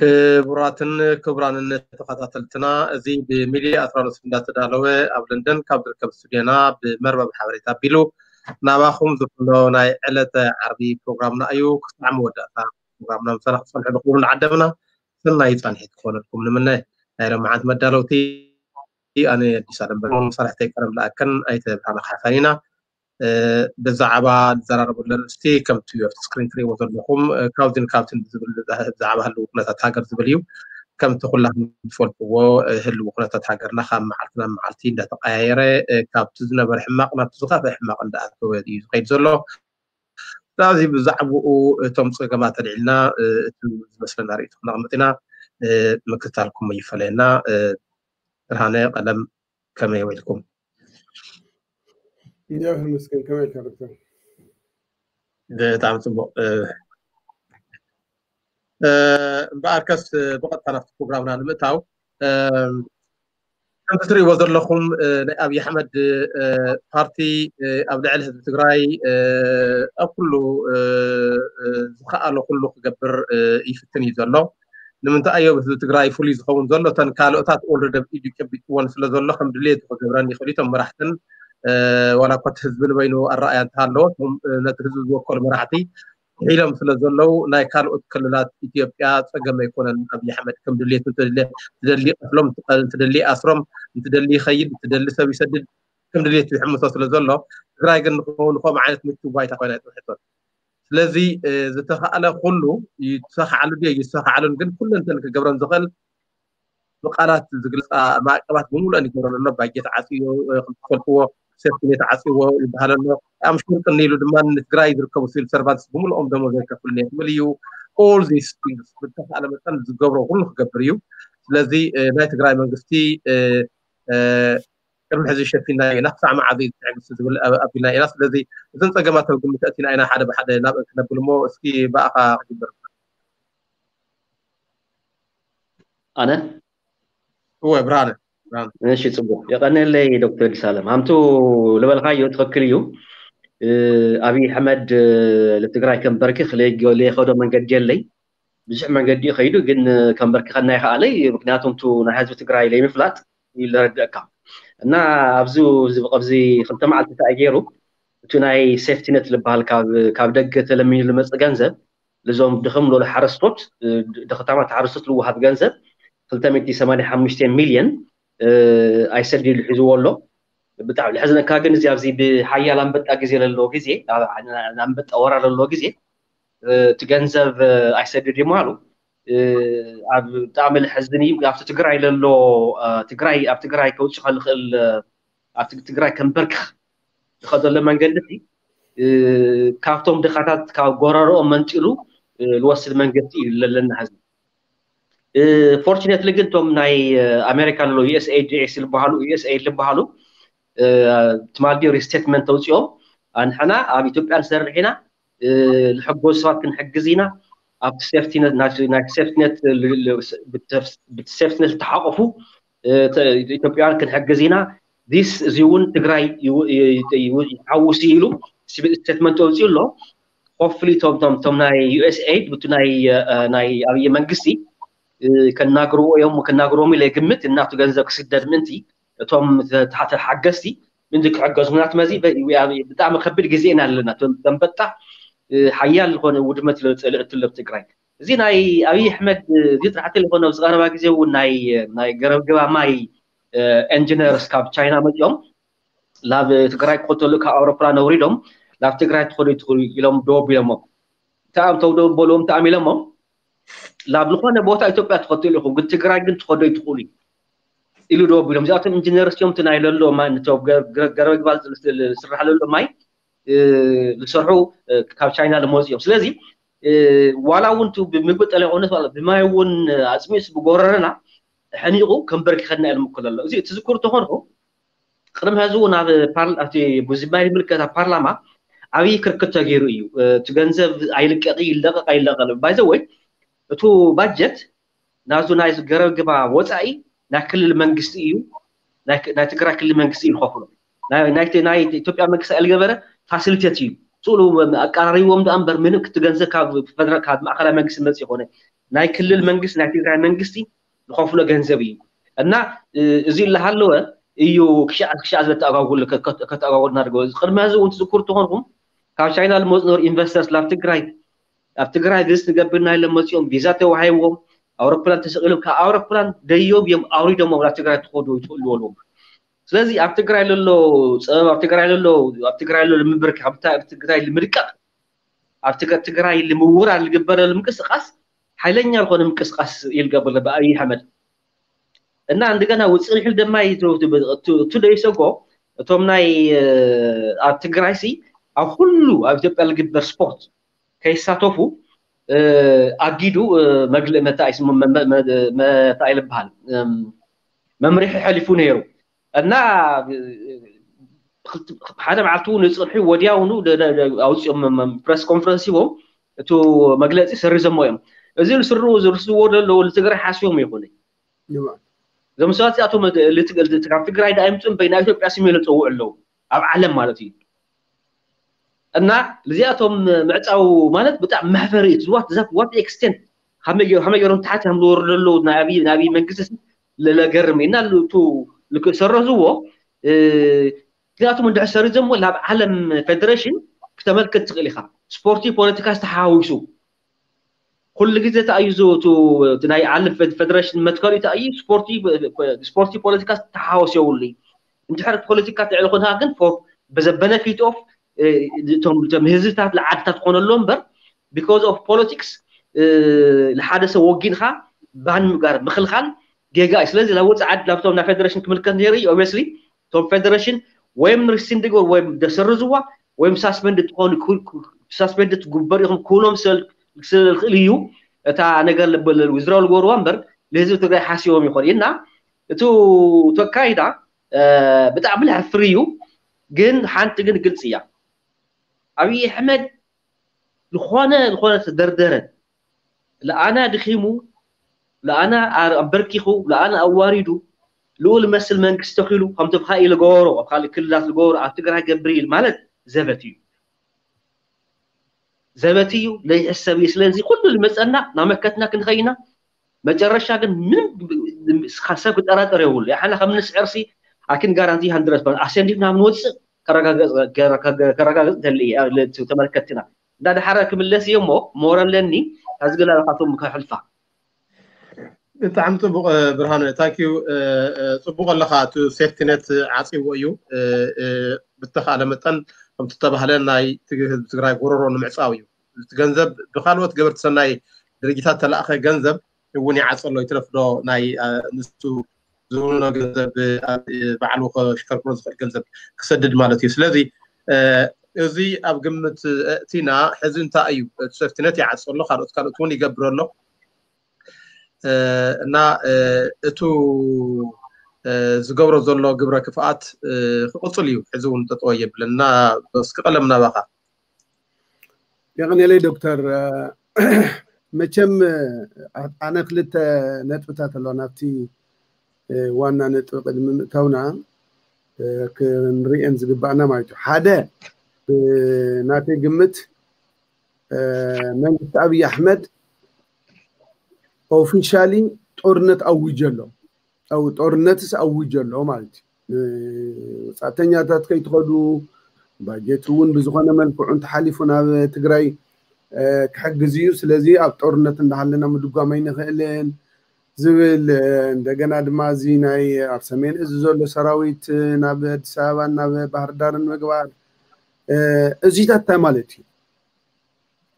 ክቡራትን ክቡራንን ተኸታተልትና፣ እዚ ብሚድያ ኣትራኖስ እንዳተዳለወ ኣብ ለንደን ካብ ዝርከብ ስቱድዮና ብመርበብ ሓበሬታ ኣቢሉ ናባኹም ዝፍኖ ናይ ዕለተ ዓርቢ ፕሮግራምና እዩ። ክሳዕ መወዳእታ ፕሮግራምና ምሳና ክትጸንሑ ብኽብሪ ንዓደምና። ሰናይ ጻንሒት ክኾነልኩም ንምነ። ናይ ሎምዓንቲ መዳለውቲ ኣነ ኣዲስ ኣለም በርሆን መሳርሕተይ ቀለም ለኣከን ኣይተ ብርሃነ ካሕሳን ኢና። ብዛዕባ ንዘራረበሉ ኣርእስቲ ከምቲ ኣብቲ ስክሪን ትሪእዎ ዘለኹም ካብዚን ካብቲን ብዝብል ብዛዕባ ህልው ኩነታት ሃገር ዝብል እዩ። ከምቲ ኩላኹም ትፈልጥዎ ህልው ኩነታት ሃገርና ካብ መዓልቲ ናብ መዓልቲ እንዳተቀያየረ ካብቲ ዝነበረ ሕማቕ ናብቲ ዝኸፍአ ሕማቕ እንዳኣተወ እዩ ዝኸይድ ዘሎ። ስለዚ ብዛዕባኡ እቶም ፀገማት ኣልዒልና እቲ ዝመስለና ርእይቶ ክነቕምጥ ኢና። ምክትታልኩም ይፈለየና። ብርሃነ ቀለም ከመይ ውዒልኩም? እንዲያ ይመስገን። ከመይ ኢልካ ዶክተር? ብጣዕሚ ፅቡቅ። እምበኣርከስ ብቐጥታ ናብቲ ፕሮግራምና ንምእታው ከምቲ ትሪእዎ ዘለኹም ናይ ኣብይ ኣሕመድ ፓርቲ ኣብ ልዕሊ ህዝቢ ትግራይ ኣብ ኩሉ ዝኸኣሎ ኩሉ ክገብር ይፍትን እዩ ዘሎ። ንምንታይ ኣዮ ህዝቢ ትግራይ ፍሉይ ዝኸውን ዘሎ? እተን ካልኦታት ኦልረዲ ኣብ ኢዱ ጨቢጥወን ስለ ዘሎ ከም ድሌቱ ክገብረን ይኽእል እዩ። እቶም መራሕትን ዋላ እኳ እቲ ህዝቢ ንበይኑ ኣረኣያ እንተሃለዎ ነቲ ህዝቢ ዝወከሉ መራሕቲ ኢሎም ስለ ዘለዉ ናይ ካልኦት ክልላት ኢትዮጵያ ፀገም ኣይኮነን። ኣብይ ኣሕመድ ከም ድሌቱ ትደሊ ቀትሎም፣ ትደሊ ኣስሮም፣ እንትደሊ ይኸይድ፣ እንትደሊ ሰብ ይሰድድ ከም ድሌቱ ይሕምሶ ስለ ዘሎ ትግራይ ግን ንኸምኡ ዓይነት ምቹ ባይታ ኮይና ኣይፅንሕቶን። ስለዚ ዝተኸኣለ ኩሉ ይተኸዓሉ ድዮ ይተኸዓሉን ግን ኩለንተን ክገብረን ዝኽእል ብቃላት ዝግለፃ ማዕቀባት ብምሉእን ይገብረን ኣሎ። ባጀት ዓፅዮ፣ ከምትፈልጥዎ ሴፍትኔት ዓፅዎ ይበሃል ኣሎ። ኣምሹር ቅኒ ኢሉ ድማ ንትግራይ ዝርከቡ ሲቪል ሰርቫንትስ ብምልኦም ደሞዝ ኣይከፍልን እየ ክብል እዩ። All these things ብተኸኣለ መጠን ዝገብሮ ኩሉ ክገብር እዩ። ስለዚ ናይ ትግራይ መንግስቲ ቅድሚ ሕዚ ሸፊና ኢና፣ ክሳዕ መዓዝ እዩ ዝትዕግስቲ ዝብል ኣቢልና ኢና። ስለዚ እዘን ፀገማት ኣብ ግምት ኣእቲና ኢና ሓደ ብሓደ ናብአን ክነብል እሞ እስኪ ብኣኻ ክጅምር። ኣነ እወ ብርሃነ ብርሃነ። እሺ ፅቡቅ የቀነለይ ዶክተር ዲሳለም ሃምቱ ልበልካዮ ትኽክል እዩ። ኣብይ ኣሕመድ ንትግራይ ከም በርኪ ለይኸዶ መንገዲ የለይ። ብዙሕ መንገዲ እዩ ከይዱ ግን ከም በርኪ ከና ይኸኣለይ ምክንያቱም ቱ ናይ ህዝቢ ትግራይ ለይምፍላጥ ይለረድእካ እና ኣብዚ ኣብዚ ክልተ መዓልቲ እንታይ ገይሩ እቲ ናይ ሴፍቲነት ዝበሃል ካብ ደገ ተለሚኑ ዝመፅእ ገንዘብ ልዞም ድኽም ሎለ ሓረስቶት ድኽታማት ሓረስቶት ልወሃብ ገንዘብ ክልተ ሚእቲ ሰማንያ ሓሙሽተ ሚልዮን ኣይሰዲዱ ሒዝዎ ኣሎ። ብጣዕሚ ልሕዝነካ ግን እዚ ኣብዚ ብሓያል ኣንበጣ ግዜ ለለዎ ግዜ ኣንበጣ ወራ ለለዎ ግዜ እቲ ገንዘብ ኣይሰድድ ይምሃሉ ኣብ ብጣዕሚ ልሕዝን እዩ። ኣብቲ ትግራይ ለሎ ትግራይ ኣብ ትግራይ ከውፅእ ከልኽእል ኣብቲ ትግራይ ከንበርክኽ ዝኸደሎ መንገዲ ካብቶም ድኻታት ካብ ጎረርኦም መንጢሉ ዝወስድ መንግስቲ እዩ ለለና ህዝቢ። ፎርቹኔትሊ ግን እቶም ናይ ኣሜሪካ ለሎ ዩኤስኤድ ዝበሃሉ ዩኤስኤድ ዝበሃሉ ትማል ሪስቴትመንት ተውፅኦም ኣንሕና ኣብ ኢትዮጵያ ንሰርሕ ኢና ንሕጎስ ሰባት ክንሕግዝ ኢና ኣብቲ ሴፍቲነት ናይ ሴፍቲነት ብቲ ሴፍቲነት ዝተሓቆፉ ኢትዮጵያውያን ክንሕግዝ ኢና ዲስ እዚ እውን ትግራይ ይሓውስ ኢሉ ስቴትመንት ወፂኡ ኣሎ። ሆፍሊ ቶም ቶም ቶም ናይ ዩኤስኤድ ብቲ ናይ ናይ ኣብይ መንግስቲ ከናግርዎ እዮም ከናግርዎም ኢለ ግምት እናቱ ገንዘብ ክስደድ ምእንቲ እቶም ተሓተ ሓገዝቲ ምእንቲ ክሕገዙ ምክንያቱ መዚ ብጣዕሚ ከቢድ ግዜ ኢና ኣለና። ተንበጣ ሓያል ዝኾነ ውድመት ለፀልእ ትለብ ትግራይ እዚ ናይ ኣብይ ኣሕመድ እዚ ጥራሕቲ ዝኾነ ኣብዚ ቀረባ ግዜ እውን ናይ ናይ ገረብ ግባ ማይ ኢንጂነርስ ካብ ቻይና መፂኦም ናብ ትግራይ ክኸተሉ ካብ ኣውሮፕላን ኣውሪዶም ናብ ትግራይ ትኸዱ ትኽእሉ ኢሎም ደወብ ኢሎሞም ተኣም ተው ደወብ በልዎም ተኣም ኢሎሞም ናብ ዝኾነ ቦታ ኢትዮጵያ ትኸትሉ ኢኹም ግን ትግራይ ግን ትኸዶ ይትኽእሉ ኢሉ ደወብ ኢሎም እዚኣቶም ኢንጂነርስ እዮም እቲ ናይ ለሎ ገረብ ግባ ዝስራሕ ለሎ ማይ ዝሰርሑ ካብ ቻይና ዝመፁ እዮም ስለዚ ዋላ እውን ቱ ብምግቢ ጠለቆነት ማለት ብማይ እውን ኣፅሚስ ብጎረረና ሕኒቁ ከንበርኪኸና ኢሉ ምክል ኣሎ እዚ ትዝክሩ ተኾንኩ ቅድሚ ሕዚ እውን ኣብ ፓርል ኣብቲ ብዙማይ ዝምልከት ኣብ ፓርላማ ዓብዪ ክርክት ተገይሩ እዩ እቲ ገንዘብ ኣይልቀቂ ይለቀቅ ኣይለቀል ባይዘ ወይ እቱ ባጀት ናዙ ናይ ገረብ ግባ ወፃኢ ናይ ክልል መንግስቲ እዩ ናይ ትግራይ ክልል መንግስቲ እዩ ዝኸፍሎ ናይ ኢትዮጵያ መንግስቲ ኣይልገበረ ፋሲሊቴት እዩ ስእሉ ኣቀራሪቦም ደኣ እምበር ምንም ክትገንዘብ ካብ ፈደራል ካብ ማእከላይ መንግስቲ መፅ ይኮነ ናይ ክልል መንግስቲ ናይ ትግራይ መንግስቲ ዝኸፍሎ ገንዘብ እዩ። እና እዚ እናሃለወ እዩ ክሻዕ ክሻዕ ዝበለ ተኣጓጉል ከተኣጓጉልና ድገ ቅድሚ ሕዚ እውን ትዝክሩ ተኾንኩም ካብ ቻይና ዝመፁ ነበሩ ኢንቨስተርስ ናብ ትግራይ ኣብ ትግራይ ቪዝት ንገብር ኢና ኢሎም መፂኦም ቪዛ ተዋሂብዎም ኣውሮፕላን ተሰቂሎም ካብ ኣውሮፕላን ደዮም እዮም ኣውሪዶም ናብ ትግራይ ትኸዱ ይትኽእሉ በልዎም። ስለዚ ኣብ ትግራይ ለሎ ፀበብ ኣብ ትግራይ ለሎ ኣብ ትግራይ ለሎ ምብርካኽ ኣብ ትግራይ ንምድቃቕ ኣብ ትግራይ ልምውራር ዝግበረሉ ምንቅስቃስ ሓይለኛ ዝኾነ ምንቅስቃስ ይልገብር ብኣብይ ኣሕመድ እና እንደገና ውፅእ ንሕል ደማ ቱ ደይሰጎ እቶም ናይ ኣብ ትግራይ ሲ ኣብ ኩሉ ኣብ ኢትዮጵያ ዝግበር ስፖርት ከይሳተፉ ኣጊዱ መግልእ መታ ይስሙ መታ ይልበሃል መምርሒ ሓሊፉ ነይሩ እና ሓደ መዓልቲ እውን ይፅንሑ ወዲያውኑ ኣውፅኦም ፕረስ ኮንፈረንስ ሂቦም እቲ መግለፂ ሰሪዘሞ እዮም። እዚ ዝስርዎ ዘለዉ ንትግራይ ሓስቦም ይኹን እዞም ሰባት እዚኣቶም ካብ ትግራይ ዳ ይምፁ እምበይ ናይ ኢትዮጵያ ስም ኢሎም ዝፀውዑ ኣለዉ ኣብ ዓለም ማለት እዩ። እና እዚኣቶም ምዕፃው ማለት ብጣዕሚ መሕፈሪ እዩ። what extent ከመይ ገይሮም ታሕቲ ከም ዝወርዱ ኣለዉ ናይ ኣብይ መንግስቲ ለገርም እና ሰረዝዎ ምክንያቱም እንድሕር ሰሪዞሞ ናብ ዓለም ፌደሬሽን ክተመልክት ትኽእል ኢኻ። ስፖርቲ ፖለቲካ ዝተሓዋዊሱ ኩሉ ግዜ ተኣዩ ናይ ዓለም ፌደሬሽን መትከሉ ተኣዩ ስፖርቲ ፖለቲካ ዝተሓወስ የብሉ። እንድሕር ፖለቲካ ትዕል ኮንካ ግን በዘ benefit of እቶም ህዝብታት ለዓድታት ኮነሎ እምበር because of politics ንሓደ ሰብ ወጊንካ ban ምግባር ምክልካል ጌጋ እዩ። ስለዚ ናብ ወፃኢ ዓዲ ናብቶም ናይ ፌደሬሽን ክምልከት ነይሩ እዩ obviously እቶም ፌደሬሽን ወይም ሪሲንድ ግበር ወይም ደሰርዝዋ ወይም ሳስፔንድ ትኾኑ ሳስፔንድ ትጉበር ኢኹም ክብሎም ዝኽእል እዩ። እታ ነገር withdraw ዝገብርዋ እምበር ንህዝቢ ትግራይ ሓሲቦም ይኾን እና እቲ ተካይዳ ብጣዕሚ ለሕፍር እዩ። ግን ሓንቲ ግን ግልፂ እያ። ኣብይ ኣሕመድ ዝኾነ ዝኾነ ተደርደረ ለኣና ድኺሙ ለኣና ኣበርኪኹ ለኣና ኣዋሪዱ ልኡል መስል መንግስቲ ተኺሉ ከምቲ ብካ ኢሉ ገበሮ ኣብ ካልእ ክልላት ዝገበሮ ኣብ ትግራይ ገብር ኢል ማለት ዘበት እዩ። ዘበት እዩ ለይሕሰብ እዩ። ስለዚ ኩሉ ዝመፀና ናመከትና ክንኸይና መጨረሻ ግን ምንም ሰብ ክጠራጠር የብሉ። ያሓና ከም ንስዕርሲ ኣኪን ጋራንቲ ሃንድረት ኣሰንዲፍና ምንወፅእ ከረጋግፅ ደሊ ተመልከትና እንዳ ድሓረ ክምለስ እየ እሞ ሞረ ኣለኒ ካዚ ገላ ካቶም ከሕልፋ ብጣዕሚ ፅቡቅ ብርሃነ ታንኪዩ ፅቡቅ ኣለካ እቲ ሴፍቲነት ዓፂዎ እዩ ብተካለ መጠን ከምቲ ተባህለ ናይ ህዝቢ ትግራይ ጎረሮ ንምዕፃው እዩ እቲ ገንዘብ ብካልኦት ገበርቲ ሰናይ ድርጅታት ተላእኸ ገንዘብ እውን ይዓፀሎ ይትረፍዶ ናይ ንሱ ዝውንኖ ገንዘብ ባዕሉ ከሽከርክሮ ዝኽእል ገንዘብ ክሰድድ ማለት እዩ ስለዚ እዚ ኣብ ግምት እእቲና ሕዚ እንታይ እዩ እቲ ሴፍቲነት ይዓፀሎ ካልኦት ካልኦት እውን ይገብረሎ እና እቱ ዝገብሮ ዘሎ ግብረ ክፍኣት ክቕፅል እዩ ሕዚ እውን ጠጠወ የብልን እና እስኪ ቀለም ናባኻ የቐኔለይ ዶክተር መቸም ኣነ ክልተ ነጥብታት ኣለዋ ናብቲ ዋና ነጥቢ ቅድሚ ምእታውና ክንርእየን ዝግባእና ማለት እዩ ሓደ ናተይ ግምት መንግስቲ ኣብይ ኣሕመድ ኦፊሻሊ ጦርነት ኣዊጀ ኣሎ ጦርነትስ ኣዊጀ ኣሎ ማለት እዩ ወፃእተኛታት ከይትኸዱ ባጀት እውን ብዝኾነ መልክዑ እንተሓሊፉ ናብ ትግራይ ክሕግዝ እዩ ስለዚ ኣብ ጦርነት እንዳሃለና ምድጓም ኣይንኽእልን ዝብል እንደገና ድማ እዚ ናይ ኣብ ሰሜን እዚ ዘሎ ሰራዊት ናብ ኣዲስ ኣበባን ናብ ባህር ዳርን ምግባር እዚታት እንታይ ማለት እዩ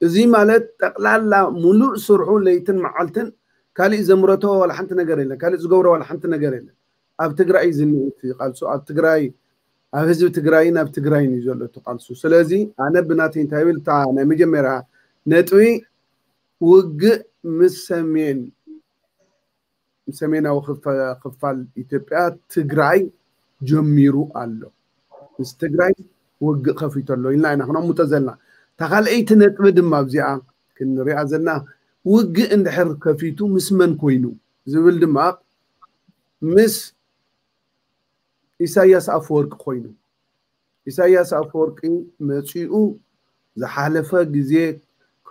እዚ ማለት ጠቕላላ ሙሉእ ስርሑ ለይትን መዓልትን ካሊእ ዘምረቶ ዋላ ሓንቲ ነገር የለን ካሊእ ዝገብሮ ዋላ ሓንቲ ነገር የለን ኣብ ትግራይ ዝኒእ ቃልሱ ኣብ ትግራይ ኣብ ህዝቢ ትግራይን ኣብ ትግራይን እዩ ዘሎ እቲ ቃልሱ ስለዚ ኣነ ብናተይ እንታይ ብል እታ ናይ መጀመርያ ነጥቢ ውግእ ምስ ሰሜን ሰሜናዊ ክፋል ኢትዮጵያ ትግራይ ጀሚሩ ኣሎ ምስ ትግራይ ውግእ ከፊቱ ኣሎ ኢልና ኢና ክነሙተ ዘለና እታ ካልአይቲ ነጥቢ ድማ ኣብዚኣ ክንሪኣ ዘለና ውግእ እንድሕር ከፊቱ ምስ መን ኮይኑ ዝብል ድማ ምስ ኢሳያስ ኣፈወርቂ ኮይኑ ኢሳያስ ኣፈወርቂ መፂኡ ዝሓለፈ ግዜ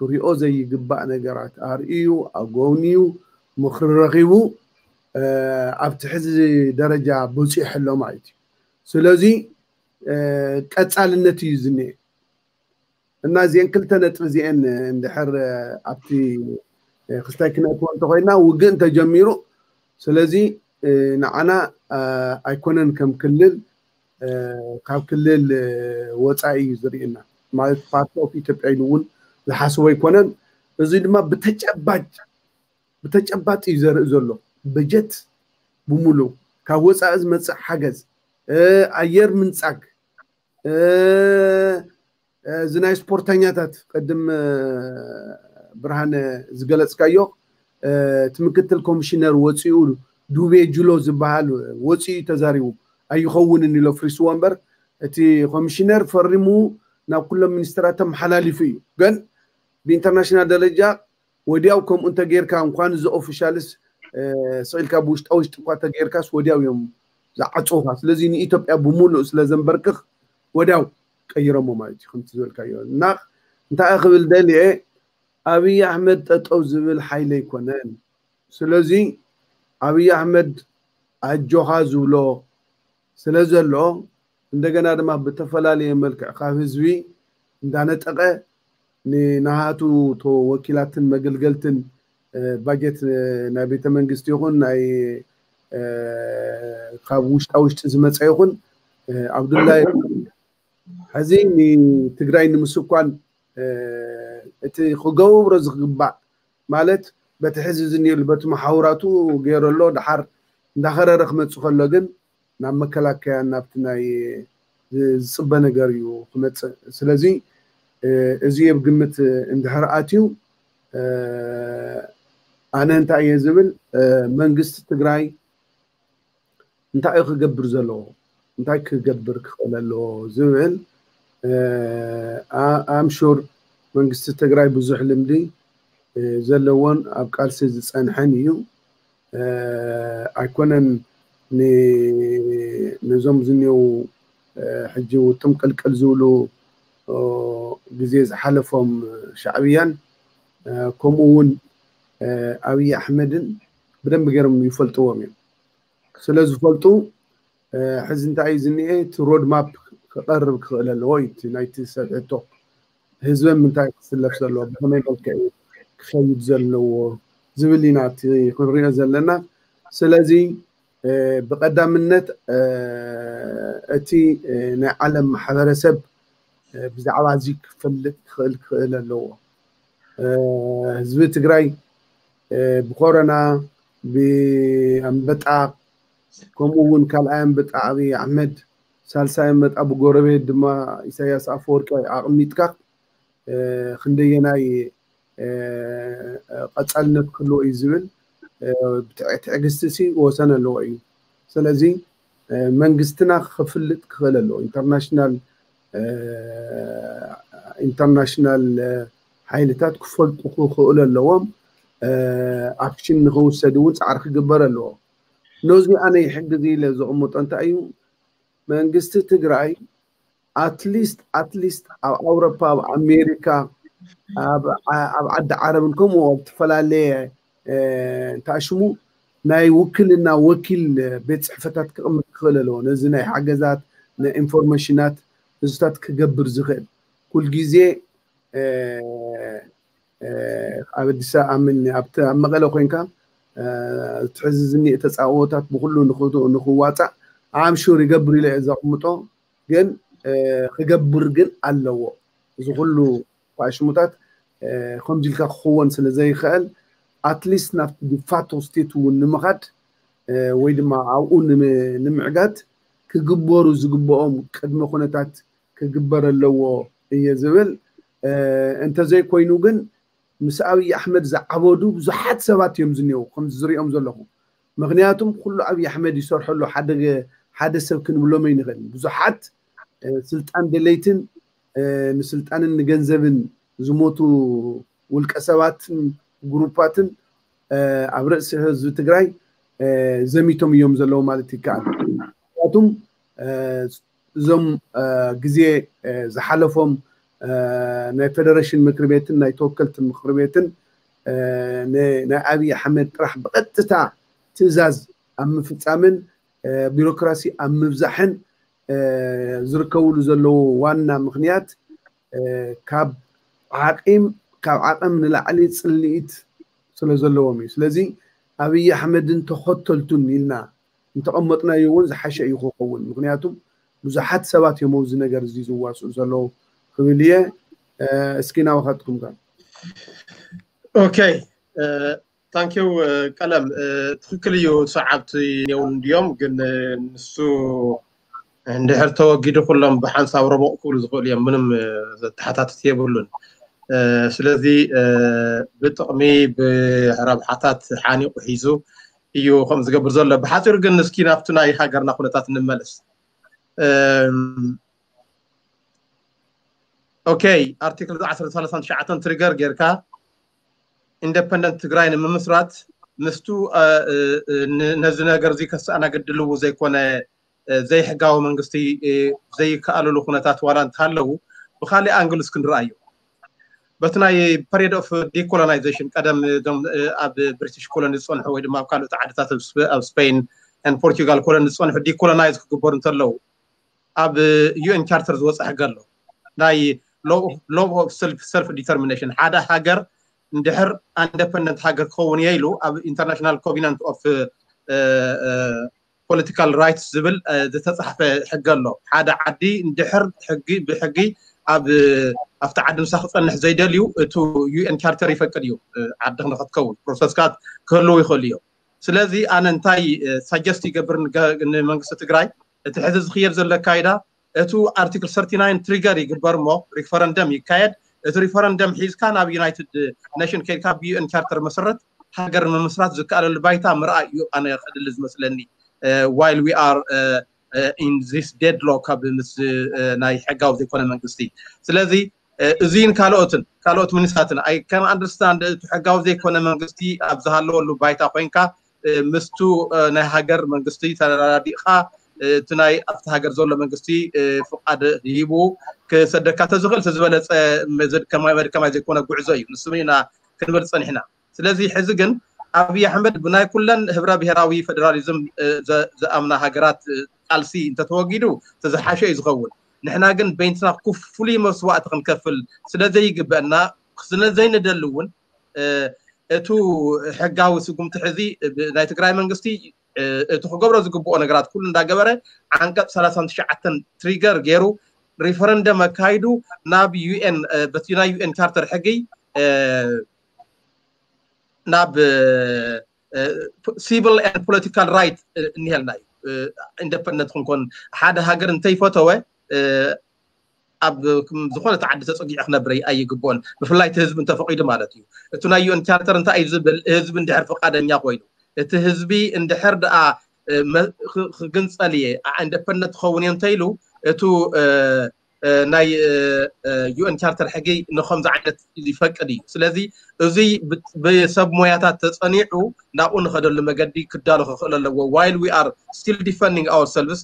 ክሪኦ ዘይግባእ ነገራት ኣርእዩ፣ ኣጎብንዩ፣ ምኽሪ ረኺቡ ኣብቲ ሕዚ ደረጃ በፂሑ ኣሎ ማለት እዩ። ስለዚ ቀፃልነት እዩ ዝኒኤ እና እዚአን ክልተ ነጥቢ እዚአን እንድሕር ኣብቲ ክስታይ ክነእትዎ እንተኮይና ውግእ እንተጀሚሩ፣ ስለዚ ንዓና ኣይኮነን ከም ክልል ካብ ክልል ወፃኢ እዩ ዝርእየና ማለት ፓርቲ ኦፍ ኢትዮጵያ ኢሉ እውን ዝሓስቦ ኣይኮነን። እዚ ድማ ብተጨባጭ ብተጨባጭ እዩ ዘርኢ ዘሎ። በጀት ብምሉእ ካብ ወፃኢ ዝመፅእ ሓገዝ፣ ኣየር ምንፃግ፣ እዚ ናይ ስፖርተኛታት ቅድም ብርሃነ ዝገለፅካዮ እቲ ምክትል ኮሚሽነር ወፂኡ ዱቤ ጅሎ ዝበሃል ወፂኡ ተዛሪቡ ኣይኸውንን ኢሎ ፍሪስዎ እምበር እቲ ኮሚሽነር ፈሪሙ ናብ ኩሎም ሚኒስትራት ተመሓላሊፉ እዩ። ግን ብኢንተርናሽናል ደረጃ ወዲያው ከምኡ እንተጌርካ እንኳን እዚ ኦፊሻልስ ስኢልካ ብውሽጣ ውሽጢ እኳ ተጌርካስ ወዲያው እዮም ዝዓፅውካ። ስለዚ ንኢትዮጵያ ብምሉእ ስለ ዘንበርክኽ ወዲያው ቀይረሞ ማለት እዩ። ከምቲ ዝበልካዮ እና እንታይ ክብል ደልየ ኣብይ ኣሕመድ ጠጠው ዝብል ሓይሊ ኣይኮነን። ስለዚ ኣብይ ኣሕመድ ኣጆኻ ዝብሎ ስለ ዘሎ እንደገና ድማ ብተፈላለየ መልክዕ ካብ ህዝቢ እንዳነጠቐ ንናሃቱ ተወኪላትን መገልገልትን ባጀት ናይ ቤተ መንግስቲ ይኹን ናይ ካብ ውሽጣ ውሽጢ ዝመፀ ይኹን ኣብዱላይ ሕዚ ንትግራይ ንምስኳን እቲ ክገብሮ ዝግባእ ማለት በቲ ሕዚ ዝኒሉ በቲ መሓውራቱ ገይሩ ኣሎ። ድሓር እንዳኸረረ ክመፅእ ከሎ ግን ናብ መከላከያ ናብቲ ናይ ዝፅበ ነገር እዩ ክመፅእ። ስለዚ እዚ ኣብ ግምት እንድሕር ኣትዩ ኣነ እንታይ እየ ዝብል መንግስቲ ትግራይ እንታይ እዩ ክገብር ዘለዎ እንታይ ክገብር ክኽእል ኣለዎ ዝብል ኣምሹር መንግስቲ ትግራይ ብዙሕ ልምዲ ዘለዎን ኣብ ቃልሲ ዝፀንሐን እዩ። ኣይኮነን ነዞም ዝኒው ሕጂ ውጥም ቅልቅል ዝብሉ ግዜ ዝሓለፎም ሻዕብያን ከምኡ እውን ኣብይ ኣሕመድን ብደንብ ገይሮም ይፈልጥዎም እዮም። ስለ ዝፈልጡ ሕዚ እንታይ እዩ ዝኒኤ እቲ ሮድማፕ ክቐርብ ክኽእል ኣለዎ እዩ እቲ ናይቲ ሰብ ሕቶ ህዝበን ምንታይ ክስለፍ ዘለዎ ብኸመይ መልክዕ ክኸይድ ዘለዎ ዝብል ኢና እቲ ክንሪኦ ዘለና። ስለዚ ብቐዳምነት እቲ ናይ ዓለም ማሕበረሰብ ብዛዕባ እዚ ክፈልጥ ክኽእል ክኽእል ኣለዎ። ህዝቢ ትግራይ ብኮረና ብኣንበጣ ከምኡ እውን ካልኣይ ኣንበጣ ኣብይ ኣሕመድ ሳልሳይ ኣንበጣ ብጎረቤት ድማ ኢሳያስ ኣፈወርቂ ኣቕሚጥካ ክንደየናይ ቀፃልነት ክህልዎ እዩ ዝብል ትዕግስቲ ሲ ወሰን ኣለዎ እዩ። ስለዚ መንግስትና ክፍልጥ ክኽእል ኣለዎ። ኢንተርናሽናል ኢንተርናሽናል ሓይልታት ክፈልጡ ክኽእሉ ኣለዎም። ኣክሽን ንክውሰድ እውን ፃዕሪ ክግበር ኣለዎ። ነዚ ኣነ ይሕግዝ ኢለ ዘቕምጦ እንታይ እዩ መንግስቲ ትግራይ ኣትሊስት ኣትሊስት ኣብ ኣውሮፓ ኣብ ኣሜሪካ ኣብ ዓዲ ዓረብን ከምኡ ኣብ ዝተፈላለየ እንታይ ሽሙ ናይ ውክልና ወኪል ቤት ፅሕፈታት ክቕምጥ ክኽእል ኣለዎ። ነዚ ናይ ሓገዛት ናይ ኢንፎርሜሽናት እዚታት ክገብር ዝኽእል ኩልግዜ ኣብ ኣዲስ ኣምን ኣብ መቐለ ኮይንካ እቲ ሕዚ ዝኒኤ ተፃወታት ብኩሉ ንክዋፃእ ኣምሹር ይገብር ኢለ እየ ዘቕምጦ። ግን ክገብር ግን ኣለዎ። እዚ ኩሉ ሽሙታት ከምዚ ኢልካ ክኽወን ስለ ዘይኽእል ኣትሊስት ናብቲ ዲፋቶ ስቴት እውን ንምኻድ ወይ ድማ ኣብኡ ንምዕጋት ክግበሩ ዝግብኦም ቅድመ ኩነታት ክግበር ኣለዎ እየ ዝብል። እንተዘይኮይኑ ግን ምስ ኣብይ ኣሕመድ ዝዓበዱ ብዙሓት ሰባት እዮም ዝኒአው ከምዚ ዝሪኦም ዘለኹ። ምክንያቱም ኩሉ ኣብይ ኣሕመድ ይሰርሐሉ ሓደ ሰብ ክንብሎም ኣይንኽእልን። ብዙሓት ስልጣን ደለይትን ንስልጣንን ንገንዘብን ዝሞቱ ውልቀ ሰባትን ግሩፓትን ኣብ ርእሲ ህዝቢ ትግራይ ዘሚቶም እዮም ዘለዉ ማለት ይከኣል። ምክንያቱም እዞም ግዜ ዝሓለፎም ናይ ፌደሬሽን ምክሪ ቤትን ናይ ተወከልቲ ምክሪ ቤትን ናይ ኣብይ ኣሕመድ ጥራሕ ብቐጥታ ትእዛዝ ኣብ ምፍፃምን ቢሮክራሲ ኣብ ምብዛሕን ዝርከብሉ ዘለዉ ዋና ምክንያት ካብ ዓቂም ካብ ዓቐም ንላዕሊ ፅልኢት ስለ ዘለዎም እዩ። ስለዚ ኣብይ ኣሕመድን ተኸተልቱን ኢልና እንተቐመጥናዮ እውን ዝሓሸ እዩ ክኸውን። ምክንያቱም ብዙሓት ሰባት እዮም ኣብዚ ነገር እዚ ዝዋስኡ ዘለዉ ክብል እየ። እስኪ ናባኻትኩም ከ? ኦኬ፣ ታንኪው ቀለም። ትክክል እዩ፣ ሰዓብቲ የውን እንዲዮም፣ ግን ንሱ እንድሕር ተወጊዱ ኩሎም ብሓንሳብ ረቦቕ ክብሉ ዝኽእሉ እዮም። ምንም ዘተሓታትት የብሉን። ስለዚ ብጥቕሚ ብረብሓታት ሓኒቑ ሒዙ እዩ ከም ዝገብር ዘሎ። ብሓፂሩ ግን እስኪ ናብቲ ናይ ሃገርና ኩነታት እንመለስ። ኦኬ፣ ኣርቲክል ዓሰርተ ሰላሳን ትሽዓተን ትሪገር ጌርካ ኢንደፐንደንት ትግራይ ንምምስራት ምስቱ ነዚ ነገር እዚ ከሰኣናግድ ድልው ዘይኮነ ዘይሕጋዊ መንግስቲ ዘይከኣልሉ ኩነታት ዋላ እንተሃለዉ ብካሊእ ኣንግል እስክንርኣዮ በቲ ናይ ፐሪድ ኦፍ ዲኮሎናይዜሽን ቀደም ኣብ ብሪቲሽ ኮሎኒ ዝፀንሑ ወይ ድማ ኣብ ካልኦት ዓድታት ኣብ ስፔን ፖርቹጋል ኮሎኒ ዝፀንሑ ዲኮሎናይዝ ክግበሩ እንተለዉ ኣብ ዩኤን ቻርተር ዝወፀ ሕገ ኣሎ። ናይ ሎ ኦፍ ሰልፍ ዲተርሚኔሽን ሓደ ሃገር እንድሕር ኢንደፐንደንት ሃገር ክኸውን እየ ኢሉ ኣብ ኢንተርናሽናል ኮቪናንት ኦፍ ፖለቲካል ራይትስ ዝብል ዝተፃሕፈ ሕገ ኣሎ። ሓደ ዓዲ እንድሕር ሕጊ ብሕጊ ኣብ ኣብቲ ዓዲ ንሳ ክፀንሕ ዘይደልዩ እቱ ዩኤን ቻርተር ይፈቅድ እዩ። ዓዲ ንክትከውን ፕሮሰስካ ክህልው ይኽእሉ እዮም። ስለዚ ኣነ እንታይ ሳጀስት ይገብር ንመንግስቲ ትግራይ እቲ ሕዚ ዝኽየድ ዘሎ ኣካይዳ እቱ ኣርቲክል ሰርቲ ናይን ትሪገር ይግበር እሞ ሪፈረንደም ይካየድ። እቲ ሪፈረንደም ሒዝካ ናብ ዩናይትድ ኔሽን ከይድካ ብዩኤን ቻርተር መሰረት ሃገር ምምስራት ዝከኣለሉ ባይታ ምርኣይ እዩ ኣነ ከድሊ ዝመስለኒ። While we are in this deadlock ኣብ ምስ ናይ ሕጋዊ ዘይኮነ መንግስቲ ስለዚ እዚን ካልኦትን ካልኦት ሚኒስትራትን I can understand እቲ ሕጋዊ ዘይኮነ መንግስቲ ኣብ ዝሃለወሉ ባይታ ኮይንካ ምስቱ ናይ ሃገር መንግስቲ ተረዳዲእካ እቲ ናይ ኣብቲ ሃገር ዘሎ መንግስቲ ፍቃድ ሂቡ ክሰደካ ተዝኽእል ዝበለፀ መድከማይ መድከማይ ዘይኮነ ጉዕዞ እዩ። ንሱ ኢና ክንብል ፀኒሕና። ስለዚ ሕዚ ግን ኣብይ ኣሕመድ ብናይ ኩለን ህብረ ብሔራዊ ፌደራሊዝም ዝኣምና ሃገራት ቃልሲ እንተተወጊዱ ተዝሓሸ እዩ ዝኸውን። ንሕና ግን በይንትና ፍሉይ መስዋእቲ ክንከፍል ስለዘይግበአና ስለዘይንደሊ እውን እቱ ሕጋዊ ስጉምቲ ሕዚ ናይ ትግራይ መንግስቲ እቲ ክገብሮ ዝግብኦ ነገራት ኩሉ እንዳገበረ ዓንቀፅ ሰላሳን ትሽዓተን ትሪገር ገይሩ ሪፈረንደም ኣካይዱ ናብ ዩኤን በቲ ናይ ዩኤን ቻርተር ሕጊ ናብ ሲቪል ፖለቲካል ራይት እኒሀልና እዩ። ኢንደፐንደንት ክንኮን ሓደ ሃገር እንተይፈተወ ኣብ ዝኾነ ዓዲ ተፀጊዑ ክነብር ኣይግብኦን። ብፍላይ እቲ ህዝቢ እንተፈቂዱ ማለት እዩ። እቲ ናይ ዩኤን ቻርተር እንታይ እዩ ዝብል ህዝቢ እንድሕር ፍቃደኛ ኮይኑ እቲ ህዝቢ እንድሕር ደኣ ክግንፀል እየ ኢንደፐንደንት ክኸውን እየ እንተኢሉ እቱ ናይ ዩኤን ቻርተር ሕጊ ንከምዚ ዓይነት ይፈቅድ እዩ። ስለዚ እዙይ ብሰብ ሞያታት ተፀኒዑ ናብኡ ንኸደሉ መገዲ ክዳሎ ክኽእል ኣለዎ። While we are still defending ourselves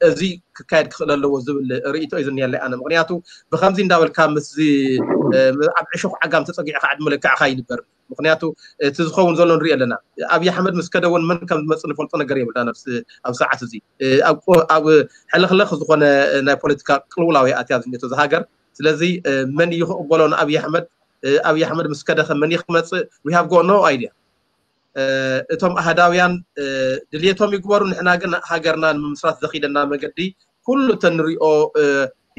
እዚ ክካየድ ክኽእል ኣለዎ ዝብል ርእይቶ እዩ ዝኒሀለይ ኣነ። ምክንያቱ ብከምዚ እንዳበልካ ምስዚ ኣብ ዕሾኽ ዓጋም ተፀጊዕካ ዕድመ ልክዕካ ይንበር። ምክንያቱ እቲ ዝኸውን ዘሎ ንሪኦ ኣለና። ኣብይ ኣሕመድ ምስ ከደ እውን መን ከም ዝመፅእ ንፈልጦ ነገር የብልና። ኣብ ሰዓት እዚ ኣብ ሕልኽልኽ ዝኾነ ናይ ፖለቲካ ቅልውላው ኣትያ ዝኒቶ ዝሃገር። ስለዚ መን እዩ ክቕበሎ ንኣብይ ኣሕመድ? ኣብይ ኣሕመድ ምስ ከደኸ መን እዩ ክመፅእ? We have got no idea። እቶም ኣህዳውያን ድልየቶም ይግበሩ፣ ንሕና ግን ሃገርና ንምምስራት ዘኺደና መገዲ ኩሉ ተንሪኦ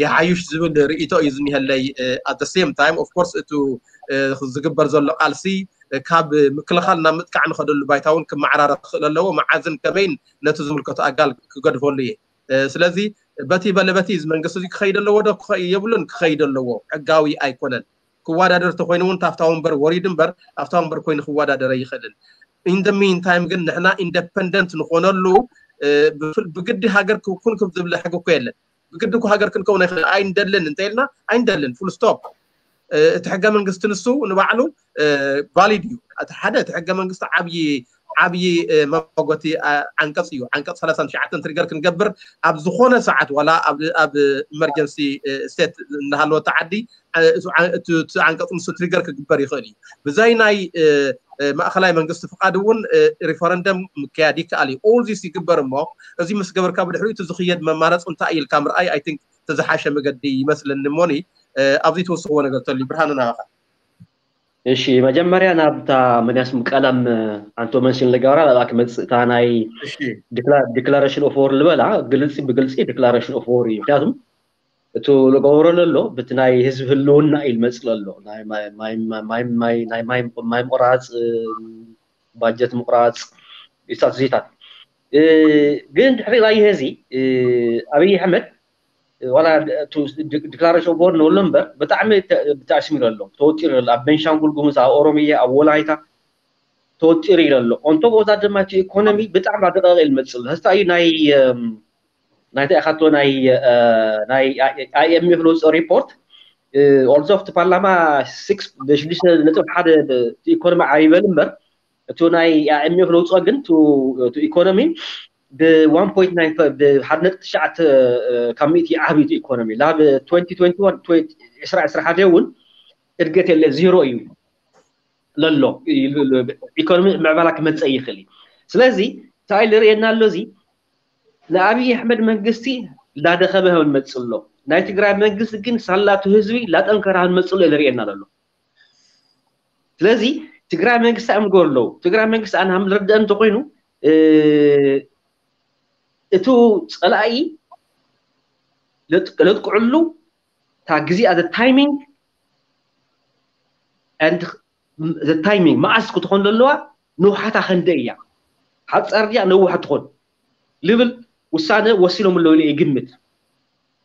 ይሓይሽ ዝብል ርእይቶ እዩ ዝኒሀለይ። At the same time of course እቱ ዝግበር ዘሎ ቃልሲ ካብ ምክልኻል ናብ ምጥቃዕ ንኸደሉ ባይታ እውን ክመዓራረ ክኽእል ኣለዎ። መዓዝን ከመይን ነቲ ዝምልከቶ ኣጋል ክገድፈሉ እየ። ስለዚ በቲ በለ በቲ እዚ መንግስቲ እዚ ክኸይድ ኣለዎ ዶ የብሉን? ክኸይድ ኣለዎ። ሕጋዊ ኣይኮነን። ክወዳደር ተኮይኑ እውን ታፍታ ወንበር ወሪዱ እምበር ኣብታ ወንበር ኮይኑ ክወዳደር ኣይኽእልን። In the meantime ግን ንሕና ኢንደፐንደንት ንኾነሉ ብግዲ ሃገር ክኩን ክም ዝብል ሕጊ እኮ የለን። ብግዲ እኮ ሃገር ክንከውን ኣይንደልን እንተኢልና ኣይንደልን፣ ፉል ስቶፕ። እቲ ሕገ መንግስቲ ንሱ ንባዕሉ ቫሊድ እዩ። እቲ ሓደ እቲ ሕገ መንግስቲ ዓብዪ ዓብዪ መጎቲ ዓንቀፅ እዩ። ዓንቀፅ ሰላሳን ትሽዓተን ትሪገር ክንገብር ኣብ ዝኾነ ሰዓት ዋላ ኣብ ኢመርጀንሲ ስቴት እናሃለወት ዓዲ እቲ ዓንቀፅ ንሱ ትሪገር ክግበር ይኽእል እዩ። ብዘይ ናይ ማእኸላይ መንግስቲ ፍቓድ እውን ሪፈረንደም ምክያድ ይከኣል እዩ። ኦል ዚስ ይግበር እሞ እዚ ምስ ገበርካ ብድሕሪኡ እቲ ዝኽየድ መማረፂ እንታይ ኢልካ ምርኣይ ኣይ ቲንክ ተዝሓሸ መገዲ ይመስለኒ። እሞኒ ኣብዚ ትወስኽዎ ነገር ተልዩ ብርሃኑ ናባኻ። እሺ መጀመርያ ናብታ መን ያስም ቀለም ኣንቶ መንሽን ልገብራ ላላ ክመፅእ እታ ናይ declaration of war ልበላ ግልፂ ብግልፂ declaration of war እዩ። ምክንያቱም እቲ ልገብሮ ለሎ ብቲ ናይ ህዝቢ ህልውና እዩ ልመፅእ ለሎ ናይ ማይ ምቁራፅ ባጀት ምቁራፅ ኢሳት ዜታት ግን ድሕሪ ራይ ሄዚ ኣብይ ኣሕመድ ዋላ declaration of war ንብሎ እምበር ብጣዕሚ ተኣስሚሩ ኣሎ፣ ተወጢሩ ኣሎ። ኣብ ቤንሻንጉል ጉሙዝ፣ ኣብ ኦሮሚያ፣ ኣብ ወላይታ ተወጢሩ ኢለ ኣሎ። ኦንቶ ቦታ ድማ እቲ ኢኮኖሚ ብጣዕሚ ኣደቃቂ ልመፅእ ኣሎ። ህስታ እዩ ናይ ናይቲ ኢኻቶ ናይ ናይ ኣይኤምኤፍ ለውፅኦ ሪፖርት ኦልዞ እቲ ፓርላማ ሽዱሽተ ነጥቢ ሓደ ኢኮኖሚ ዓብይበል እምበር እቲ ናይ ኣይኤምኤፍ ለውፅኦ ግን ኢኮኖሚ ብሓደ ነጥቢ ትሽዓተ ካብ ሚእቲ ዓብዩ ኢኮኖሚ ላብ ዕስራ ዕስራ ሓደ እውን እድገት የለ ዜሮ እዩ ለሎ። ኢኮኖሚ ምዕባላ ክመፀእ ይኽእል እዩ። ስለዚ እንታይ ልርእየና ኣሎ እዚ ንኣብይ ኣሕመድ መንግስቲ ላደኸመ ንመፅእ ኣሎ። ናይ ትግራይ መንግስቲ ግን ሳላቱ ህዝቢ ላጠንከራ ንመፅእ ኣሎ ልርእየና ዘሎ። ስለዚ ትግራይ መንግስቲ ኣምገር ኣለዉ። ትግራይ መንግስቲ ኣነ ሃም ልርድአ እንተኮይኑ እቱ ፀላኢ ለጥቅዕሉ እታ ግዜ the timing and the timing መዓስ ክትኾን ዘለዋ ንውሓታ ከንደ እያ ሓፃር ድያ ነውሕ ትኾን ልብል ውሳነ ወሲኖም ኣለዉ ኢለ ይግምት።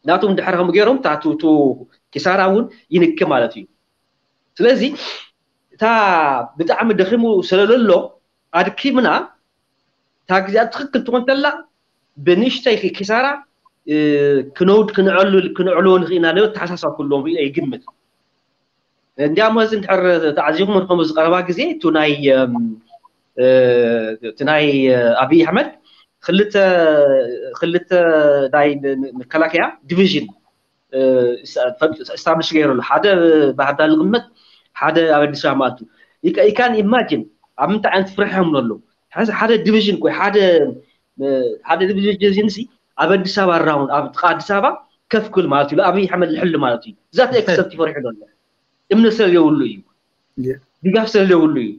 ናቶም ድሕሪ ከም ገይሮም ታቱ ኪሳራ እውን ይንክ ማለት እዩ። ስለዚ እታ ብጣዕሚ ደኺሙ ስለለሎ ኣድኪምና እታ ግዜኣ ትኽክል ትኾን ተላ ብንእሽተይ ኪሳራ ክነውድ ክንዕሉ ክንዕልዎ ንኽእልና ለ ተሓሳሳብ ክህልዎም ይግምት። እንዲያሞ እዚ እንድሕር ተዓዚኹም ንከም ዝቀረባ ግዜ እቱ ናይ እቲ ናይ ኣብይ ኣሕመድ ክልተ ክልተ ናይ መከላከያ ዲቪዥን ስታብሊሽ ገይሩ ኣሎ። ሓደ ባህርዳር ዝቕመጥ ሓደ ኣብ ኣዲስ ኣበባ ማለት እዩ። You can imagine ኣብ ምንታይ ዓይነት ፍርሒ እዮም ዘለዉ። ሓደ ዲቪዥን ኮይ ሓደ ሓደ ዲቪዥን ሲ ኣብ ኣዲስ ኣበባ ራውን ኣብ ጥቃ ኣዲስ ኣበባ ከፍ ክብል ማለት እዩ። ኣብይ ኣሕመድ ልሕሉ ማለት እዩ። እዛ ኤክሰፕት ይፈሪሑ ዘሎ እምነት ስለ ዘይብሉ እዩ። ድጋፍ ስለ ዘይብሉ እዩ።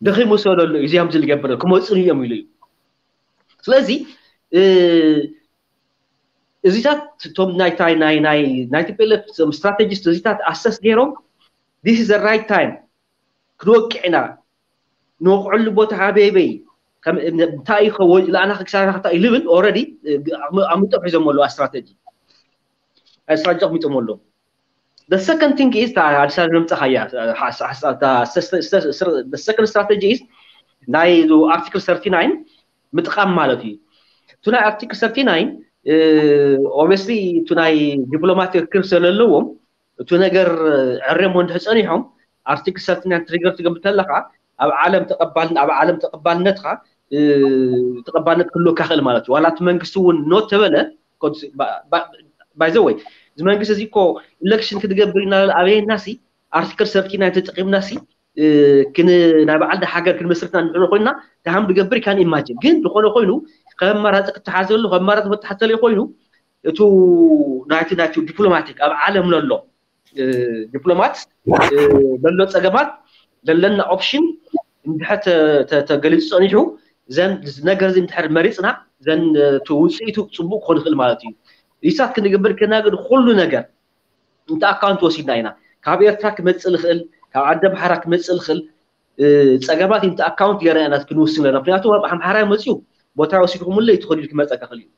ደኺሙ ስለ ዘሎ እዩ። እዚያም ዝልገብር ክመፅእ እዮም ኢሉ እዩ። ስለዚ እዚታት እቶም ናይ ናይ ናይ ናይ ቲፒኤልኤፍ ስትራቴጂስት እዚታት ኣሰስ ገይሮም this is the right time ክንወቅዕ ኢና ንወቅዐሉ ቦታ ኣበይ ኣበይ እንታይ እዩ ከወ ለኣና ክሳራ ክታ እዩ ልብል ኦረዲ ኣምጦ ሒዞም ኣለዋ ስትራቴጂ ስትራቴጂ ኣሚጦም ኣለዉ። The second thing is ኣዲስ ኣበባ መምፀኻያ second strategy is ናይ ኣርቲክል thirty nine ምጥቃም ማለት እዩ። እቲ ናይ ኣርቲክል thirty nine obviously እቲ ናይ ዲፕሎማቲክ ክር ስለለዎም እቲ ነገር ዕሬሞ እንድሕር ፀኒሖም ኣርቲክል thirty nine ትሪገር ትገብር ተለካ ኣብ ዓለም ተቐባል ኣብ ዓለም ተቐባልነትካ ተቐባልነት ክህልወካ ክእል ማለት እዩ። ዋላ እቲ መንግስቲ እውን ኖ ተበለ by the way እዚ መንግስቲ እዚ እኮ ኢሌክሽን ክትገብር ኢና ኣበየና ሲ ኣርቲክል thirty nine ተጠቂምና ሲ ክን ናይ በዓል ሃገር ክንመስርትና ንሕነ ኮይና ደሃም ብገብር can imagine ግን ዝኾነ ኮይኑ ከም ኣማራፂ ክተሓዘሉ ከም ኣማራፂ መተሓተለ ኮይኑ እቱ ናይቲ ናይቲ ዲፕሎማቲክ ኣብ ዓለም ነሎ ዲፕሎማት ዘሎ ፀገማት ዘለና ኦፕሽን እንድሕር ተገሊፁ ፀኒሑ ዘን ነገር እዚ እንድሕር መሪፅና ዘን ውፅኢቱ ፅቡቅ ክኾን ይኽእል ማለት እዩ። ሪሳት ክንገብር ከና ግን ኩሉ ነገር እንተ ኣካውንት ወሲድና ኢና ካብ ኤርትራ ክመፅእ ዝኽእል ካብ ዓዲ ኣምሓራ ክመፅእ ዝኽእል ፀገማት እንተ ኣካውንት ገይርና ኢና ክንውስን ዘለና። ምክንያቱ ኣብ ኣምሓራ መፅኡ ቦታ ወሲድኩምለይ ትኸዱ ክመፀካ ክእል እዩ።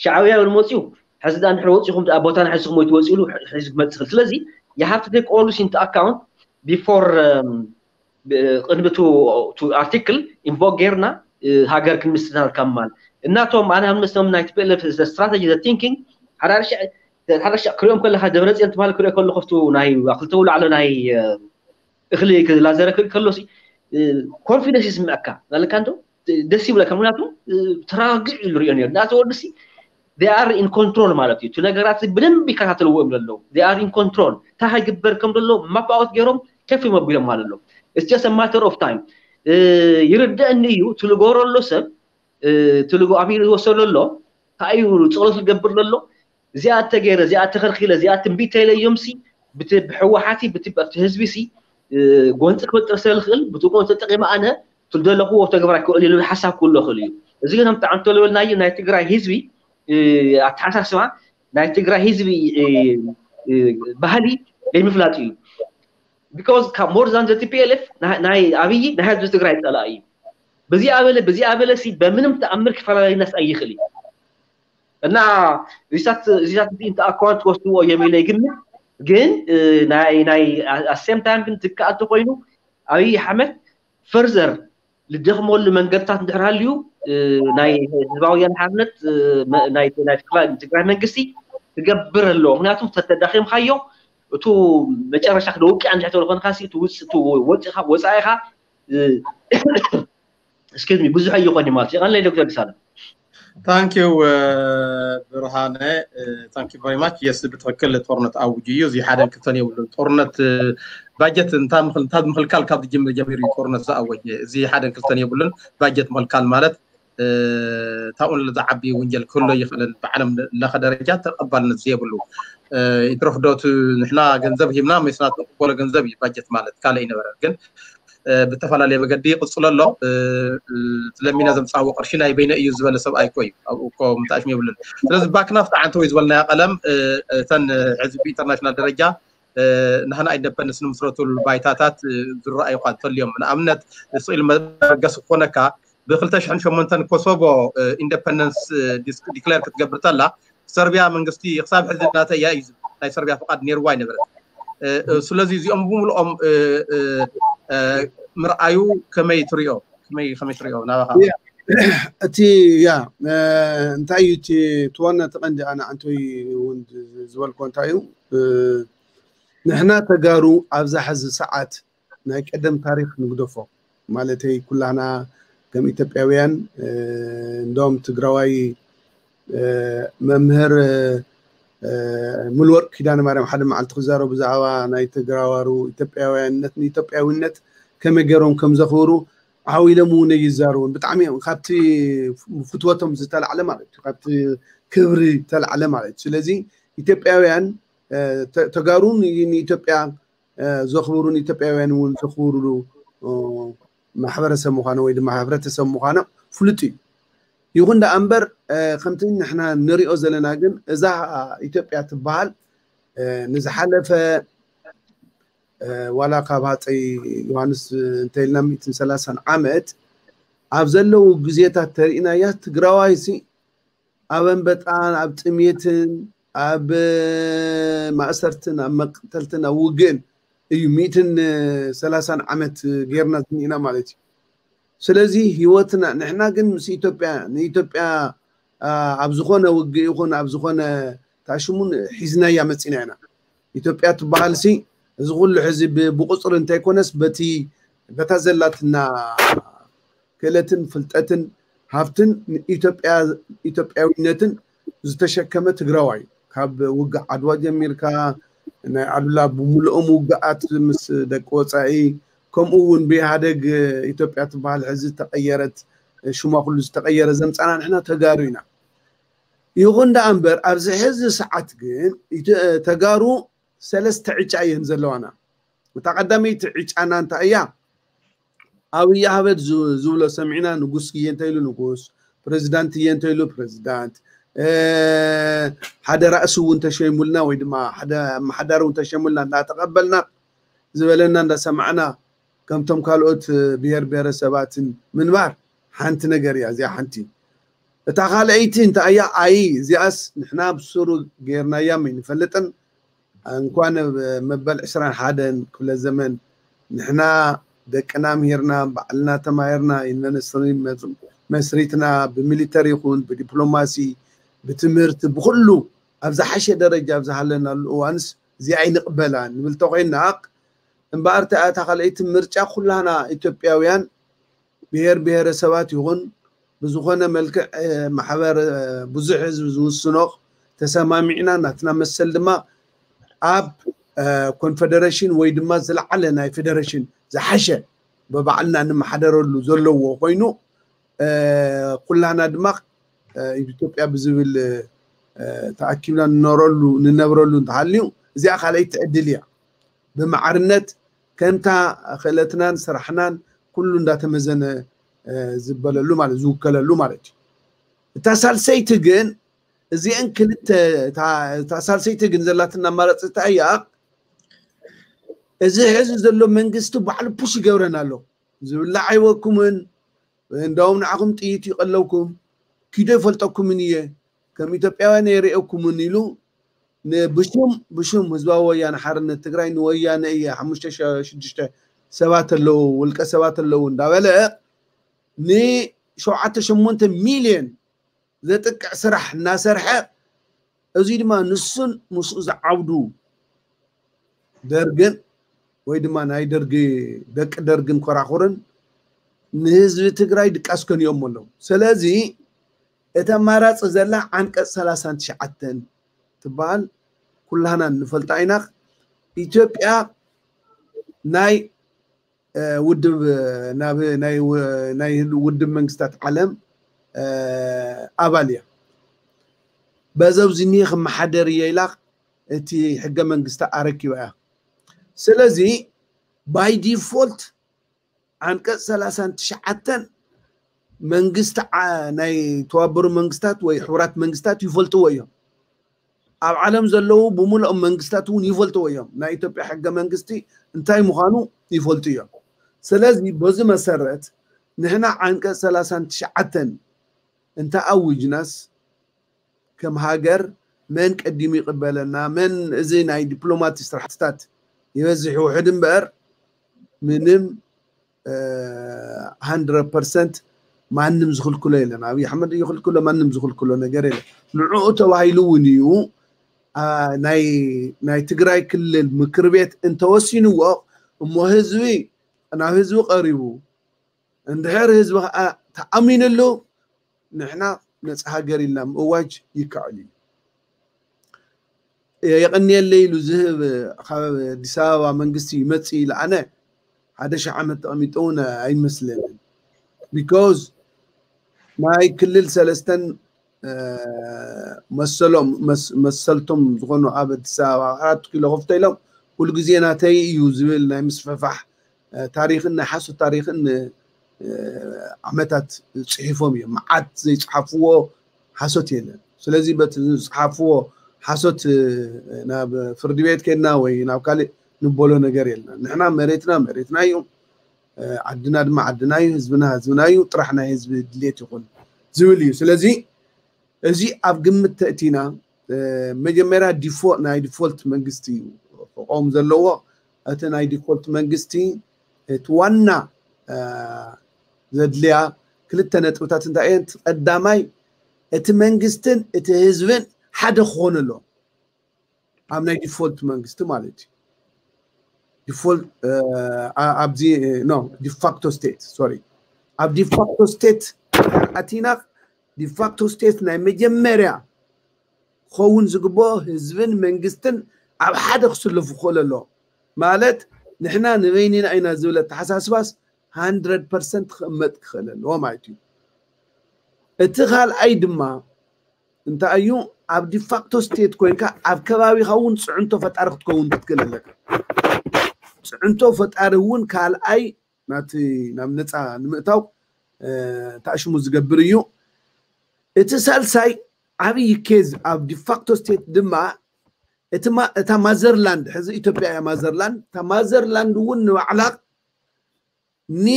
ሻዕብያ እውን መፅኡ ሕዚ ዳ እንድሕር ወፂኹም ዳ ቦታና ሕዝኩም ወይ ትወፅእሉ ሕዚ ክመፅእ ይኽእል። ስለዚ you have to take all this into account before ቅድሚ ቱ ኣርቲክል ኢንቮክ ጌርና ሃገር ክንምስርት ከማል እናቶም ኣነ ኣብ መስሎም ናይ ቲፒኤልኤፍ the strategy the thinking ሓደ ሓደ ክሪኦም ከለካ ደብረፅዮን ትበሃል ክሪኦ ከለኹ ኣብቲ ናይ ክልተ ውላዕሎ ናይ እኽሊ ላዘረ ክርኢ ከሎ ኮንፊደንስ ይስምዐካ ናለካ እንዶ ደስ ይብለካ። ምክንያቱ ተረጋጊዑ እዩ ዝሪኦ ነሩ ናቲ ወዲ ሲ they are in control ማለት እዩ። እቲ ነገራት ብደንብ ይከታተልዎ እዮም ዘለዉ። They are in control። እንታይ ይግበር ከም ዘሎ ማፕ ኣውት ገይሮም ከፍ መቢሎም ማለት ኣሎ። It's just a matter of time። ይርደእኒ እዩ ትልጎሮ ኣሎ ሰብ ትልጎ ኣብ ዝወሰዶ ኣሎ እንታይ እዩ ጸሎት ዝገብር ዘሎ እዚኣ ተገይረ እዚኣ ተኸልኪለ እዚኣ ትንቢት ተይለዮም ሲ ብቲ ብሕወሓቲ ብቲ ኣብቲ ህዝቢ ሲ ጎንፂ ክፈጥር ስለ ዝኽእል ብቲ ጎንፂ ተጠቂመ ኣነ ትደለኹዎ ተግባር ክውዕል ኢሉ ሓሳብ ክህሎ ይኽእል እዩ። እዚ ግን ከምቲ ዓንቶ ዝበልናዮ ናይ ትግራይ ህዝቢ ኣተሓሳስባ ናይ ትግራይ ህዝቢ ባህሊ ዘይምፍላጥ እዩ። Because ካብ more than the T P L F ናይ ኣብይ ናይ ህዝቢ ትግራይ ፀላኢ እዩ። በዚኣ በለ በዚኣ በለ ሲ በምንም ተኣምር ክፈላለዩናስ ኣይኽእል እዩ። እና እዚታት እዚታት እዚ እንተ ኣኳን ትወስድዎ እዮም ኢለ ይግምት። ግን ናይ ናይ same time ግን ትከኣል ተኮይኑ ኣብይ ኣሕመድ further ልደኽመሉ መንገድታት እንድሕር ሃልዩ ናይ ህዝባዊ ወያነ ሓርነት ናይ ናይ ትግራይ መንግስቲ ክገብር ኣለዎ። ምክንያቱ ተተዳኺምካዮ እቱ መጨረሻ ክደውቅዕ እንድሕር ተብሎ ኮንካ ሲ እቱ ውፅ እቱ ወፂኻ ወፃኢኻ excuse me ብዙሕ ኣይኾን ማለት ይቐለይ ዶክተር ደሳለ ታንኪዩ ብርሃነ thank you very much። Yes ብትክክል ጦርነት ኣውጅ እዩ። እዚ ሓደን ክልተን የብሉን። ጦርነት ባጀት እንታ ምክልካል ካብ ዝጅምር ጀሚሩ እዩ ጦርነት ዝኣወጀ። እዚ ሓደን ክልተን የብሉን። ባጀት ምክልካል ማለት ታኡን ዝዓቢ ውንጀል ክህሎ ይኽእልን ብዓለም ለኸ ደረጃ ተቐባልነት ዘየብሉ ይትረፍዶት ንሕና ገንዘብ ሂብና ሜስና ተቕበሎ ገንዘብ እዩ ባጀት ማለት ካልእ ይነበረ ግን ብተፈላለየ መገዲ ይቕፅሎ ኣሎ። ለሚና ዘምፃዎ ቅርሺ ናይ በይነ እዩ ዝበለ ሰብ ኣይኮ እዩ ኣብኡ እኮ ምጣሽም የብሉን። ስለዚ ባክና ፍትዓንተ ወይ ዝበልናያ ቀለም እተን ሕዚ ብኢንተርናሽናል ደረጃ ናህና ኢንደፐንደንስ ንምስረቱሉ ባይታታት ዝረኣዩ ኳ እንተልዮም ንኣብነት ስኢል መበገሲ ክኾነካ ብክልተ ሽሕን ሸሞንተን ኮሶቮ ኢንደፐንደንስ ዲክሌር ክትገብር ተላ ሰርቢያ መንግስቲ ክሳብ ሕዚ ናተ እያ እዩ ናይ ሰርቢያ ፍቃድ ነይርዋ ኣይነበረት። ስለዚ እዚኦም ብምልኦም ምርኣዩ ከመይ ትሪኦ ከመይ ከመይ ትሪኦ ናባኻ እቲ ያ እንታይ እዩ እቲ ትዋና ተቐንዲ ኣነ ኣንቶይ እውን ዝበልኮ እንታይ እዩ ንሕና ተጋሩ ኣብዛ ሕዚ ሰዓት ናይ ቀደም ታሪክ ንግደፎ ማለተይ ኩላና ከም ኢትዮጵያውያን እንደም ትግራዋይ መምህር ሙሉወርቅ ኪዳነ ማርያም ሓደ መዓልቲ ክዛረቡ ብዛዕባ ናይ ተግራዋሩ ኢትዮጵያውያንነት ንኢትዮጵያዊነት ከመይ ገይሮም ከም ዘኽብሩ ዓው ኢሎም እውን ይዛረቡን ብጣዕሚ እዮም ካብቲ ፍትወቶም ዝተላዕለ ማለት እዩ ካብቲ ክብሪ ተላዕለ ማለት እዩ ስለዚ ኢትዮጵያውያን ተጋሩ ንኢትዮጵያ ዘኽብሩን ኢትዮጵያውያን እውን ዘኽብሩሉ ማሕበረሰብ ምዃኑ ወይ ድማ ሕብረተሰብ ምዃኑ ፍሉጥ እዩ። ይኹን ደኣ እምበር ከምቲ ንሕና ንሪኦ ዘለና ግን እዛ ኢትዮጵያ ትበሃል ንዝሓለፈ ዋላ ካብ ሃፀይ ዮሃንስ እንተኢልና ሚእትን ሰላሳን ዓመት ኣብ ዘለዉ ግዜታት ተሪእናያ ትግራዋይሲ ኣብ ኣንበጣን ኣብ ጥሜትን ኣብ ማእሰርትን ኣብ መቅተልትን ኣብ ውግእን እዩ ሚእትን ሰላሳን ዓመት ጌርና ዝኒእና ማለት እዩ። ስለዚ ህይወትና ንሕና ግን ምስ ኢትዮጵያ ንኢትዮጵያ ኣብ ዝኾነ ውግእ ይኹን ኣብ ዝኾነ ታሽሙን ሒዝናያ መፂና ኢና። ኢትዮጵያ ትበሃል ሲ እዚ ኩሉ ሕዚ ብቁፅሪ እንተይኮነስ በቲ በታ ዘላትና ክእለትን ፍልጠትን ሃፍትን ንኢትዮጵያ ኢትዮጵያዊነትን ዝተሸከመ ትግራዋይ ካብ ውግእ ዓድዋ ጀሚርካ ናይ ኣሉላ ብምልኦም ውግኣት ምስ ደቂ ወፃኢ ከምኡ እውን ብኢህኣደግ ኢትዮጵያ ትበሃል ሕዚ ዝተቀየረት ሽማ ኩሉ ዝተቀየረ ዘምፃና ንሕና ተጋሩ ኢና። ይኹን ደኣ እምበር ኣብዚ ሕዚ ሰዓት ግን ተጋሩ ሰለስተ ዕጫ እየን ዘለዋና። እታ ቀዳመይቲ ዕጫና እንታይ እያ? ኣብይ ኣህመድ ዝብሎ ሰሚዕና ንጉስ እየ እንተኢሉ ንጉስ፣ ፕሬዚዳንት እየ እንተኢሉ ፕሬዚዳንት፣ ሓደ ራእሲ እውን ተሸይሙልና ወይ ድማ ሓደ ኣመሓዳሪ እውን ተሸይሙልና እንዳተቐበልና ዝበለና እንዳሰማዕና ከምቶም ካልኦት ብሄር ብሄረሰባትን ምንባር ሓንቲ ነገር እያ። እዚኣ ሓንቲ እታ ካልኣይቲ እንታይ እያ? ኣይ እዚኣስ ንሕና ብስሩ ጌርናያ ኣይንፈልጥን። እንኳን መበል ዕስራን ሓደን ክፍለ ዘመን ንሕና ደቅና ምሂርና ባዕልና ተማሂርና ዩኒቨርሲቲ መስሪትና ብሚሊተሪ ይኹን ብዲፕሎማሲ ብትምህርቲ ብኩሉ ኣብ ዝሓሸ ደረጃ ኣብ ዝሃለናሉ እዋንስ እዚኣ ኣይንቕበላን ንብል ተኮይና እምበኣር እታ ካልኣይቲ ምርጫ ኩላና ኢትዮጵያውያን ብሔር ብሔረሰባት ይኹን ብዝኾነ መልክዕ ማሕበር ብዙሕ ህዝቢ ዝውስኖ ተሰማሚዕና ናትና መሰል ድማ ኣብ ኮንፈደሬሽን ወይ ድማ ዝለዓለ ናይ ፌደሬሽን ዝሓሸ ብባዕልና ንመሓደረሉ ዘለዎ ኮይኑ ኩላና ድማ ኢትዮጵያ ብዝብል ተኣኪብና ንነብረሉ ንነብረሉ እንተሃልዩ እዚኣ ካልኣይቲ ዕድል እያ። ብማዕርነት ከምታ ክእለትናን ስራሕናን ኩሉ እንዳተመዘነ ዝበለሉ ማለት ዝውከለሉ ማለት እዩ። እታ ሳልሰይቲ ግን እዚአን ክልተ እታ ሳልሰይቲ ግን ዘላትና ኣማራፂ እንታይ እያ? እዚ ሕዚ ዘሎ መንግስቲ ባዕሉ ፑሽ ይገብረን ኣሎ። ዝብላዕ ኣይወኩምን፣ እንዳውም ንዓኹም ጥይት ይቀለውኩም፣ ኪዶ ይፈልጠኩምን እየ፣ ከም ኢትዮጵያውያን የርእየኩምን ኢሉ ብሽም ብሽም ህዝባዊ ወያነ ሓርነት ትግራይ ንወያነ እየ ሓሙሽተ ሽዱሽተ ሰባት ኣለዉ ውልቀ ሰባት ኣለዉ እንዳበለ ንሸውዓተ ሸሞንተ ሚልዮን ዘጥቅዕ ስራሕ እናሰርሐ እዚ ድማ ንሱን ምስኡ ዝዓብዱ ደርግን ወይ ድማ ናይ ደርጊ ደቂ ደርግን ኮራኹርን ንህዝቢ ትግራይ ድቃስ ከንዮም ኣለዉ። ስለዚ እቲ ኣማራፂ ዘላ ዓንቀፅ ሰላሳን ትሽዓተን ትበሃል ኩላህና ንፈልጣ ኢና። ኢትዮጵያ ናይ ውድብ ናብ ናይ ውድብ መንግስታት ዓለም ኣባል እያ። በዘው ዝኒህ ክመሓደር እየ ኢላ እቲ ሕገ መንግስቲ ኣረኪባ እያ። ስለዚ ባይ ዲፎልት ዓንቀፅ ሰላሳን ትሽዓተን መንግስቲ ናይ ተባበሩ መንግስታት ወይ ሕቡራት መንግስታት ይፈልጥዎ እዮም። ኣብ ዓለም ዘለዉ ብምልኦም መንግስታት እውን ይፈልጥዎ እዮም። ናይ ኢትዮጵያ ሕገ መንግስቲ እንታይ ምዃኑ ይፈልጡ እዮም። ስለዚ በዚ መሰረት ንሕና ዓንቀፅ ሰላሳን ትሽዓተን እንተ ኣውጅናስ ከም ሃገር መን ቀዲሙ ይቕበለና፣ መን እዚ ናይ ዲፕሎማቲ ስራሕትታት ይበዝሕ ይውሕድ እምበር ምንም ሃንድረድ ፐርሰንት ማንም ዝኽልክሎ የለን። ኣብይ ኣሕመድ ይኽልክሎ፣ ማንም ዝኽልክሎ ነገር የለን። ንዕኡ ተባሂሉ እውን እዩ ናይ ትግራይ ክልል ምክር ቤት እንተወሲንዎ እሞ ህዝቢ ናብ ህዝቢ ቀሪቡ እንድሕር ህዝቢ ከዓ ተኣሚንሉ ንሕና ነፃ ሃገር ኢልና ምእዋጅ ይከኣል እዩ። የቐንየለይ ኢሉ ዝህብ ካብ ኣዲስ ኣበባ መንግስቲ ይመፅእ ኢለ ኣነ ሓደ ሺሕ ዓመት ተቐሚጠ እውን ኣይመስለንን። ቢኮዝ ናይ ክልል ሰለስተን መሰሎም መሰልቶም ዝኾኑ ኣብ ኣዲስ ኣበባ ኣራት ኪሎ ከፍቶ ኢሎም ኩሉ ግዜ ናተይ እዩ ዝብል ናይ ምስፍሕፋሕ ታሪኽን ናይ ሓሶት ታሪኽን ዓመታት ፅሒፎም እዮም። መዓት ዘይፅሓፍዎ ሓሶት የለን። ስለዚ በቲ ዝፅሓፍዎ ሓሶት ናብ ፍርዲ ቤት ከድና ወይ ናብ ካልእ ንበሎ ነገር የለን። ንሕና መሬትና መሬትና እዩ፣ ዓድና ድማ ዓድና እዩ፣ ህዝብና ህዝብና እዩ፣ ጥራሕ ናይ ህዝቢ ድሌት ይኹን ዝብል እዩ። ስለዚ እዚ ኣብ ግምት ተእቲና መጀመርያ ዲፎ ናይ ዲፎልት መንግስቲ እዩ ክቆም ዘለዎ። እቲ ናይ ዲፎልት መንግስቲ እቲ ዋና ዘድልያ ክልተ ነጥብታት እንታይ እየን? ቀዳማይ እቲ መንግስትን እቲ ህዝብን ሓደ ክኾኑ ኣለዎም ኣብ ናይ ዲፎልት መንግስቲ ማለት እዩ። ዲፎልት ኣብዚ ኖ ዲፋክቶ ስቴት ሶሪ ኣብ ዲፋክቶ ስቴት ኣቲና ዲፋክቶ ስቴት ናይ መጀመርያ ክኸውን ዝግብኦ ህዝብን መንግስትን ኣብ ሓደ ክስለፉ ክኽእል ኣለዎ። ማለት ንሕና ንበይንና ኢና ዝብል ኣተሓሳስባስ ሃንድረድ ፐርሰንት ክቕመጥ ክኽእል ኣለዎ ማለት እዩ። እቲ ካልኣይ ድማ እንታይ እዩ? ኣብ ዲፋክቶ ስቴት ኮይንካ ኣብ ከባቢኻ እውን ፅዕንቶ ፈጣሪ ክትከውን ክትክእል ኣለካ። ፅዕንቶ ፈጣሪ እውን ካልኣይ ናቲ ናብ ነፃ ንምእታው ተኣሽሙ ዝገብር እዩ። እቲ ሳልሳይ ዓብዪ ኬዝ ኣብ ዲፋክቶ ስቴት ድማ እታ ማዘርላንድ ሕዚ ኢትዮጵያ እያ ማዘርላንድ እታ ማዘርላንድ እውን ንባዕላ ኒ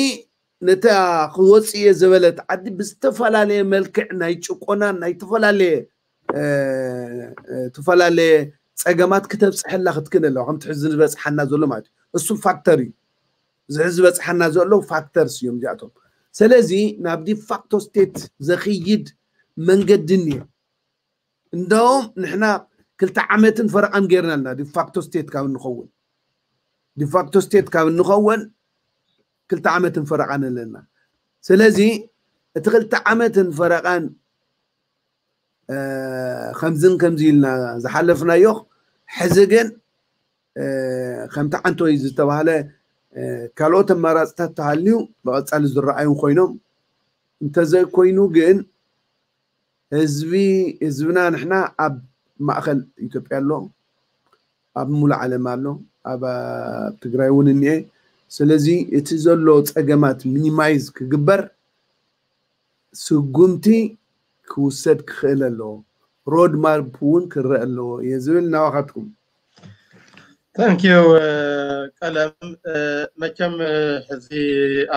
ነታ ክወፅእ እየ ዝበለት ዓዲ ብዝተፈላለየ መልክዕ ናይ ጭቆና ናይ ዝተፈላለየ ዝተፈላለየ ፀገማት ክተብፅሐላ ክትክእል ኣለዋ ከምቲ ሕዚ ዝበፅሓና ዘሎ ማለት እዩ። እሱ ፋክተር እዩ። እዚ ዝበፅሓና ዘሎ ፋክተርስ እዮም እዚኣቶም። ስለዚ ናብ ዲፋክቶ ስቴት ዘኽይድ መንገዲ እኒኦ። እንደውም ንሕና ክልተ ዓመትን ፈረቓን ጌርና ኣለና ዲፋክቶ ስቴት ካብ እንኸውን ዲፋክቶ ስቴት ካብ እንኸውን ክልተ ዓመትን ፈረቓን ኣለና። ስለዚ እቲ ክልተ ዓመትን ፈረቓን ከምዝን ከምዚ ኢልና ዝሓለፍናዮ፣ ሕዚ ግን ከምቲ ዓንቶይ ዝተባህለ ካልኦት ኣማራፅታት ተሃልዩ ብቐፃሊ ዝረኣዩ ኮይኖም፣ እንተዘይኮይኑ ግን ህዝቢ ህዝብና ንሕና ኣብ ማእኸል ኢትዮጵያ ኣሎ፣ ኣብ ሙሉእ ዓለም ኣሎ፣ ኣብ ትግራይ እውን እኒኤ። ስለዚ እቲ ዘሎ ፀገማት ሚኒማይዝ ክግበር ስጉምቲ ክውሰድ ክኽእል ኣለዎ። ሮድ ማፕ እውን ክረአ ኣለዎ እየ ዝብል። ናባኻትኩም። Thank you ቀለም። መቸም ሕዚ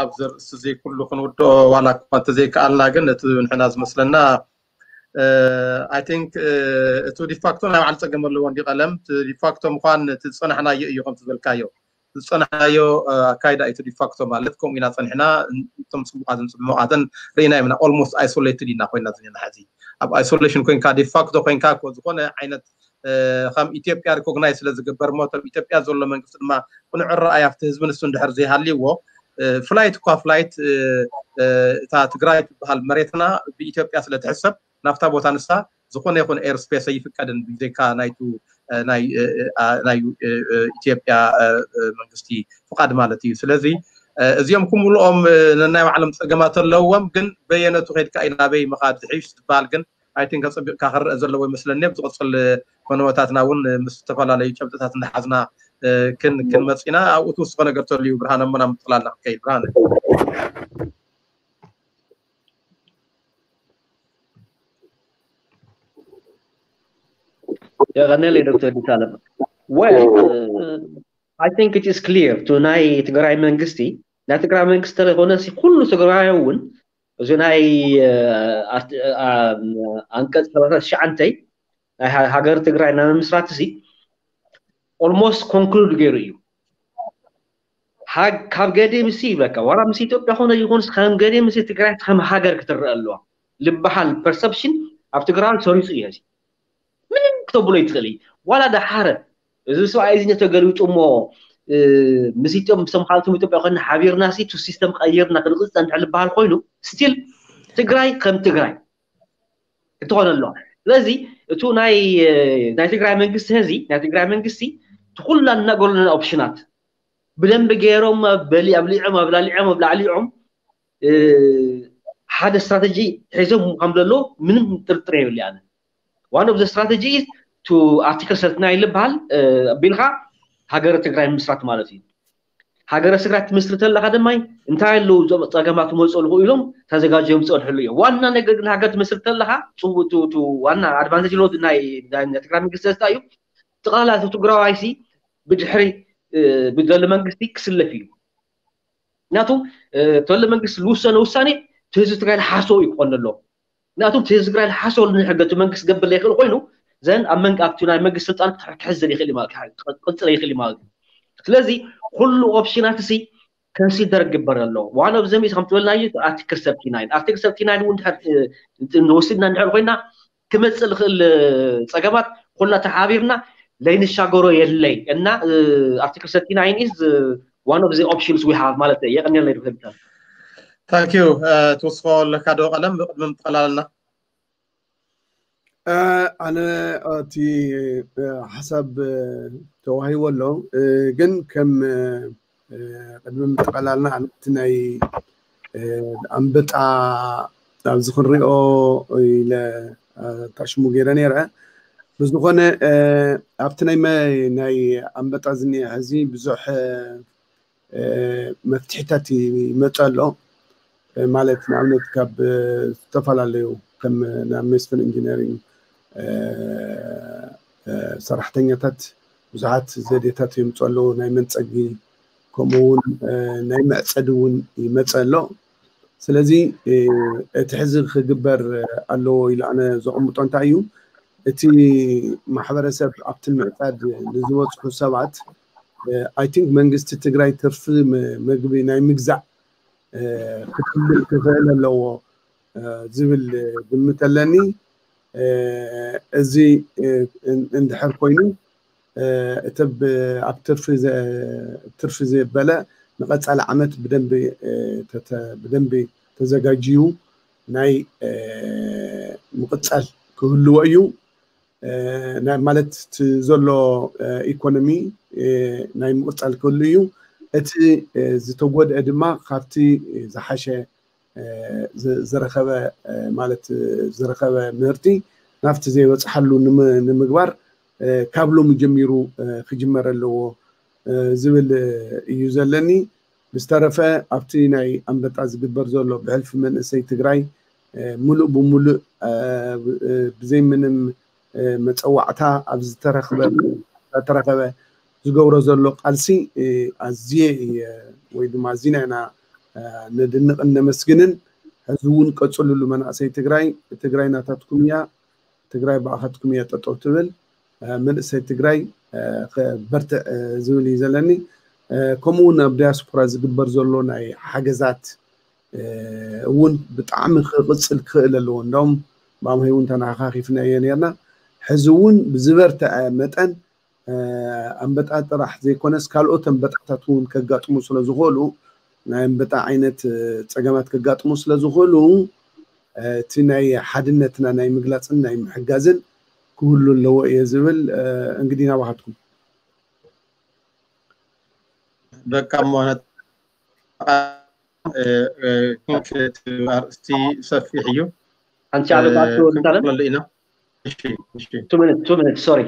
ኣብዚ ርእሲ እዚ ኩሉ ክንውድኦ ዋላ እኳ እንተዘይከኣልና፣ ግን እቲ ንሕና ዝመስለና I think እቲ ዲፋክቶ ናይ ባዕሉ ፀገም ኣለዎ እንዲ ቀለም። እቲ ዲፋክቶ ምኳን እቲ ዝፀናሕናዮ እዩ፣ ከምቲ ዝበልካዮ ዝፀናሕናዮ ኣካይዳ እዩ። እቲ ዲፋክቶ ማለት ከምኡ ኢና ፀኒሕና፣ እቶም ፅቡቃትን ፅቡቃትን ርኢና ኢና። Almost isolated ኢና ኮይና ዝኒና። ሕዚ ኣብ isolation ኮይንካ፣ ዲፋክቶ ኮይንካ እኮ ዝኾነ ዓይነት ከም ኢትዮጵያ ሪኮግናይዝ ስለ ዝግበር እሞ፣ እቶም ኢትዮጵያ ዘሎ መንግስቲ ድማ ቅኑዕ ራእይ ኣብቲ ህዝቢ ንሱ እንድሕር ዘይሃልይዎ፣ ፍላይት እኳ ፍላይት እታ ትግራይ ትበሃል መሬትና ብኢትዮጵያ ስለ ትሕሰብ፣ ናብታ ቦታ ንሳ ዝኾነ ይኹን ኤርስፔስ ኣይፍቀድን ብዘይካ ናይቱ ናይ ኢትዮጵያ መንግስቲ ፍቃድ ማለት እዩ። ስለዚ እዚኦም ኩምልኦም ነናይ ባዕሎም ፀገማት ኣለዎም፣ ግን በየነቱ ከይድካ እዩ ናበይ ምኻድ ዝሕይሽ ዝበሃል ግን I think ኣፀቢቕካ ክረአ ዘለዎ ይመስለኒ። ኣብ ዝቕፅል ፈነወታትና እውን ምስ ዝተፈላለዩ ጨብጥታት እንዳሓዝና ክንመፅ ኢና። ኣብኡ ትውስኾ ነገር ተልዩ ብርሃነ፣ እሞ ናብ ምጥላልና ክንከይድ። ብርሃነ። የቐነለይ ዶክተር ዲሳለም። Well, I think it is clear to ናይ ትግራይ መንግስቲ፣ ናይ ትግራይ መንግስቲ ተለይኮነ ኩሉ ትግራይ እውን እዚ ናይ ኣንቀፅ ሰላሳ ትሽዓተ ናይ ሃገር ትግራይ ናይ ምምስራት እዚ almost conclude ገይሩ እዩ። ካብ ገዴ ምስ ይብለካ ዋላ ምስ ኢትዮጵያ ኮነ ይኹን ከም ገዴ ምስ ትግራይ ከም ሃገር ክትረአ ኣለዋ ዝበሃል ፐርሰፕሽን ኣብ ትግራይ ሰሪፁ እዩ። ምንም ክተብሎ ይትኽእል እዩ። ዋላ ደሓረ እዚ ሰብኣይ እዚ ተገልቢጡ እሞ ምስ ኢትዮጵያ ምስ ካልኦት ኢትዮጵያ ኮይና ሓቢርና ሲ ቱ ሲስተም ቀይርና ክንቕፅል እንድሕር ዝበሃል ኮይኑ ስቲል ትግራይ ከም ትግራይ ክትኾን ኣለዋ። ስለዚ እቱ ናይ ናይ ትግራይ መንግስቲ ህዚ ናይ ትግራይ መንግስቲ ትኩላ እናጎለና ኦፕሽናት ብደንብ ገይሮም በሊ ኣብሊዖም ኣብላሊዖም ኣብላዕሊዖም ሓደ ስትራተጂ ሒዞም ከም ዘሎ ምንም ጥርጥር የብሊ። ኣነ one of the strategy to article thirty nine ዝበሃል ኣቢልካ ሃገረ ትግራይ ምስራት ማለት እዩ። ሃገረ ትግራይ ትምስርት ኣለካ ድማ እንታይ ኣለዉ እዞም ፀገማት ክመፁ ኣለኹ ኢሎም ተዘጋጀዮም ዝፀንሕሉ እዮም። ዋና ነገር ግን ሃገር ትምስርት ኣለካ ዋና ኣድቫንቴጅ ሎ ናይ ትግራይ መንግስቲ ዘስታ እዩ። ጥቕላላ ትግራዋይሲ ብድሕሪ ብዘሎ መንግስቲ ክስለፍ እዩ። ምክንያቱ ተሎ መንግስቲ ዝውሰነ ውሳኔ ትህዝቢ ትግራይ ዝሓሰቡ እዩ ክኾን ኣለዎ። ምክንያቱ ትህዝቢ ትግራይ ዝሓሰቡ ንሕገ መንግስቲ ገብር ዘይክእል ኮይኑ ዘን ኣብ መንግ ኣብቲ ናይ መንግስቲ ስልጣን ክሕዘል ይኽእል ማለት ክቅፅል ይኽእል ማለት እዩ። ስለዚ ኩሉ ኦፕሽናት ሲ ከንሲደር ግበር ኣሎ። ዋን ኦፍ ዘም ከም ትበልናዮ ኣርቲክል ሰርቲ ናይን ኣርቲክል ሰርቲ ናይን እውን ንወስድና እንድሕር ኮይና ክመፅእ ዝኽእል ፀገማት ኩላ ተሓቢርና ለይንሻገሮ የለይ እና ኣርቲክል ሰርቲ ናይን is one of the options we have ማለት እዩ። የቀንየለይ ዶክተር ቢታል። ታንክ ዩ። ትውስኮ ኣለካ ዶ ቀለም ብቅድሚ ምጥቃላልና? ኣነ እቲ ሓሳብ ተዋሂቦ ኣሎ፣ ግን ከም ቅድሚ ምጥቃላልና ኣነ እቲ ናይ ኣንበጣ ኣብዚ ክንሪኦ ኢለ ታሽሙ ገይረ ነይረ። ብዝኾነ ኣብቲ ናይ ኣንበጣ ዝኒአ ሕዚ ብዙሕ መፍትሒታት ይመፅ ኣሎ። ማለት ንኣብነት ካብ ዝተፈላለዩ ከም ናብ መስፍን ኢንጂነሪንግ ሰራሕተኛታት ብዙሓት ዘዴታት የምፁ ኣለዉ። ናይ መንፀጊ ከምኡ እውን ናይ መዕፀዲ እውን ይመፀ ኣሎ። ስለዚ እቲ ሕዚ ክግበር ኣለዎ ኢሉ ኣነ ዘቐምጦ እንታይ እዩ፣ እቲ ማሕበረሰብ ኣብቲ ምዕፃድ ንዝበፅሑ ሰባት I think መንግስቲ ትግራይ ትርፊ ምግቢ ናይ ምግዛእ ክትብል ክኽእል ኣለዎ ዝብል ግምት ኣለኒ። እዚ እንድሕር ኮይኑ እቲ ኣብ ትርፊ ዘበለ ንቐፃሊ ዓመት ብደንቢ ብደንቢ ተዘጋጅዩ ናይ ምቕፃል ክህልዎ እዩ። ማለት እቲ ዘሎ ኢኮኖሚ ናይ ምቕፃል ክህሉ እዩ። እቲ ዝተጎድአ ድማ ካብቲ ዝሓሸ ዝረኸበ ማለት ዝረኸበ ምህርቲ ናብቲ ዘይበፅሓሉ ንምግባር ካብ ሎሚ ጀሚሩ ክጅመር ኣለዎ ዝብል እዩ ዘለኒ። ብዝተረፈ ኣብቲ ናይ ኣንበጣ ዝግበር ዘሎ ብሕልፊ መንእሰይ ትግራይ ሙሉእ ብሙሉእ ብዘይ ምንም መፀዋዕታ ኣብ ዝተረኸበ ዝገብሮ ዘሎ ቃልሲ ኣዝየ እየ ወይ ድማ ኣዚና ኢና ነድንቕን ነመስግንን። ሕዚ እውን ቀፅሉሉ መናእሰይ ትግራይ። ትግራይ ናታትኩም እያ፣ ትግራይ ብኣኻትኩም እያ ጠጠው ትብል። መንእሰይ ትግራይ ክበርትዕ ዝብል እዩ ዘለኒ። ከምኡ እውን ኣብ ዲያስፖራ ዝግበር ዘሎ ናይ ሓገዛት እውን ብጣዕሚ ክቕፅል ክኽእል ኣለዎ። እንደውም ብኣምሀይ እውን ተነኻኺፍናዮ ነርና። ሕዚ እውን ብዝበርትዐ መጠን ኣንበጣ ጥራሕ ዘይኮነስ ካልኦት ኣንበጣታት እውን ከጋጥሙ ስለ ዝኽእሉ ናይ ኣንበጣ ዓይነት ፀገማት ከጋጥሙ ስለ ዝኽእሉ እቲ ናይ ሓድነትና ናይ ምግላፅን ናይ ምሕጋዝን ክህሉ ኣለዎ እየ ዝብል። እንግዲህ ናባኻትኩም በቃ ሞነት ኣርእስቲ ሰፊሕ እዩ። ሓንቲ ዓመት ኣቶ ዝታለም ክንቀጥለሉ ኢና። ቱ ሚኒት ሶሪ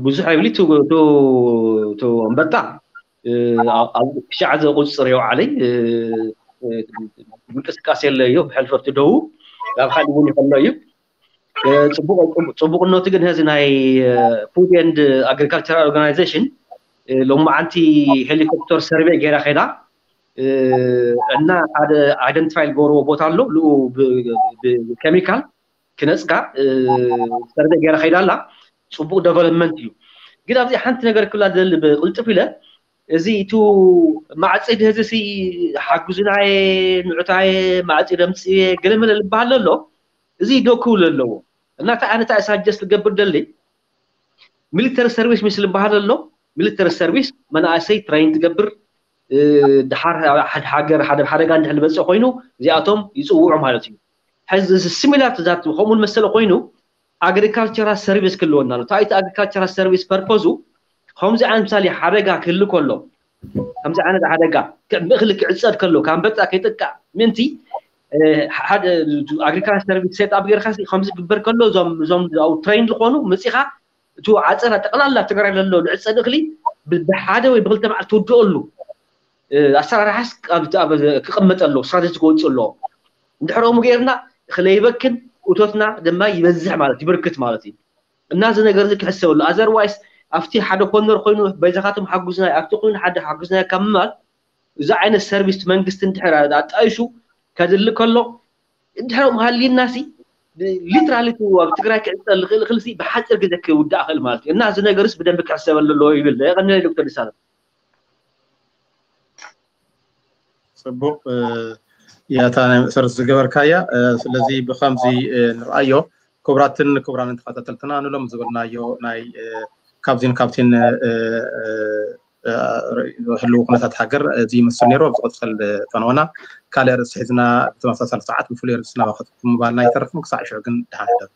ብዙሕ ኣይብሊ ቱ ኣንበጣ ክሻዕ ዘቁፅር የውዓለይ ምንቅስቃሴ የለ እዩ ብሕልፈቱ ደው ናብ ካልእ እውን ይኸሎ እዩ። ፅቡቅነቱ ግን ዚ ናይ ፉድ ኤንድ ኣግሪካልቸራል ኦርጋናይዜሽን ሎማዓንቲ ሄሊኮፕተር ሰርቬይ ገይራ ከይዳ እና ሓደ ኣይደንቲፋይ ዝገብርዎ ቦታ ኣሎ ሉ ብኬሚካል ክነፅጋ ሰርቬይ ገይራ ከይዳ ኣላ። ፅቡቅ ደቨሎፕመንት እዩ። ግን ኣብዚ ሓንቲ ነገር ክብላ ዝደሊ ብቅልጥፍ ኢለ እዚ እቱ ማዕፂድ ህዚ ሓጉዝናየ ንዑታየ ማዕፂድ ኣምፅየ ገለመለ ዝበሃል ኣሎ። እዚ ዶ ክብል ኣለዎ እና እንታይ ኣነ እንታይ ሳጀስት ዝገብር ደሊ ሚሊተሪ ሰርቪስ ምስ ዝበሃል ኣሎ። ሚሊተሪ ሰርቪስ መናእሰይ ትሬን ትገብር ድሓር ሓደ ሃገር ሓደ ሓደጋ እንድሕር ዝበፅእ ኮይኑ እዚኣቶም ይፅውዑ ማለት እዩ። ሕዚ እዚ ሲሚላር ዛት ከምኡ መሰለ ኮይኑ ኣግሪካልቸራል ሰርቪስ ክህልወና ኣሎ። ታይቲ ኣግሪካልቸራል ሰርቪስ ፐርፖዙ ከምዚ ዓይነት ምሳሌ ሓደጋ ክህሉ ከሎ ከምዚ ዓይነት ሓደጋ እኽሊ ክዕፀድ ከሎ ካብ ኣንበጣ ከይጥቃዕ ምእንቲ ሓደ ኣግሪካልቸር ሰርቪስ ሴት ኣፕ ጌርካ ከምዚ ክግበር ከሎ እዞም እዞም ኣብኡ ትሬን ዝኾኑ መፂኻ እቲ ዓፀዳ ጠቕላላ ትግራይ ለሎ ዝዕፀድ እኽሊ ብሓደ ወይ ብክልተ መዓልቲ ትውድኦሉ ኣሰራርሓስ ክቕመጥ ኣለዎ፣ ስትራቴጂ ክወፅእ ኣለዎ። እንድሕር ከምኡ ጌርና እኽሊ ይበክን እቶትና ድማ ይበዝሕ ማለት ይብርክት ማለት እዩ። እና እዚ ነገር እዚ ክሕሰበሉ ኣዘርዋይስ ኣብቲ ሓደ ኮርነር ኮይኑ በይዛኻትም ሓጉዝናይ ኣብቲ ኮይኑ ሓደ ሓጉዝናይ ካብ ምባል እዚ ዓይነት ሰርቪስ መንግስቲ እንድሕር ኣጣይሹ ከድሊ ከሎ እንድሕር ሃልዩናሲ ሊትራሊ ኣብ ትግራይ ክዕፀል ዝኽእል እኽልሲ ብሓፂር ግዜ ክውዳእ ክእል ማለት እዩ። እና እዚ ነገርስ ብደንቢ ክሕሰበሉ ኣለዎ ይብል። የቐንለይ ዶክተር ደሳለ። ፅቡቅ ያታ ናይ መእሰርቲ ዝገበርካያ። ስለዚ ብከምዚ ንርኣዮ። ክቡራትን ክቡራንን ተኸታተልትና ንሎም ዝበልናዮ ናይ ካብዚን ካብቲን ህልው ኩነታት ሃገር እዚ ይመስል ነይሩ። ኣብ ዝቕፅል ፈነወና ካልእ ርእሲ ሒዝና ብተመሳሳሊ ሰዓት ብፍሉይ ርእሲ ናባኸትኩም ምባልና ኣይተርፍን። ክሳዕ ሽዑ ግን ደሓን ሕደሩ።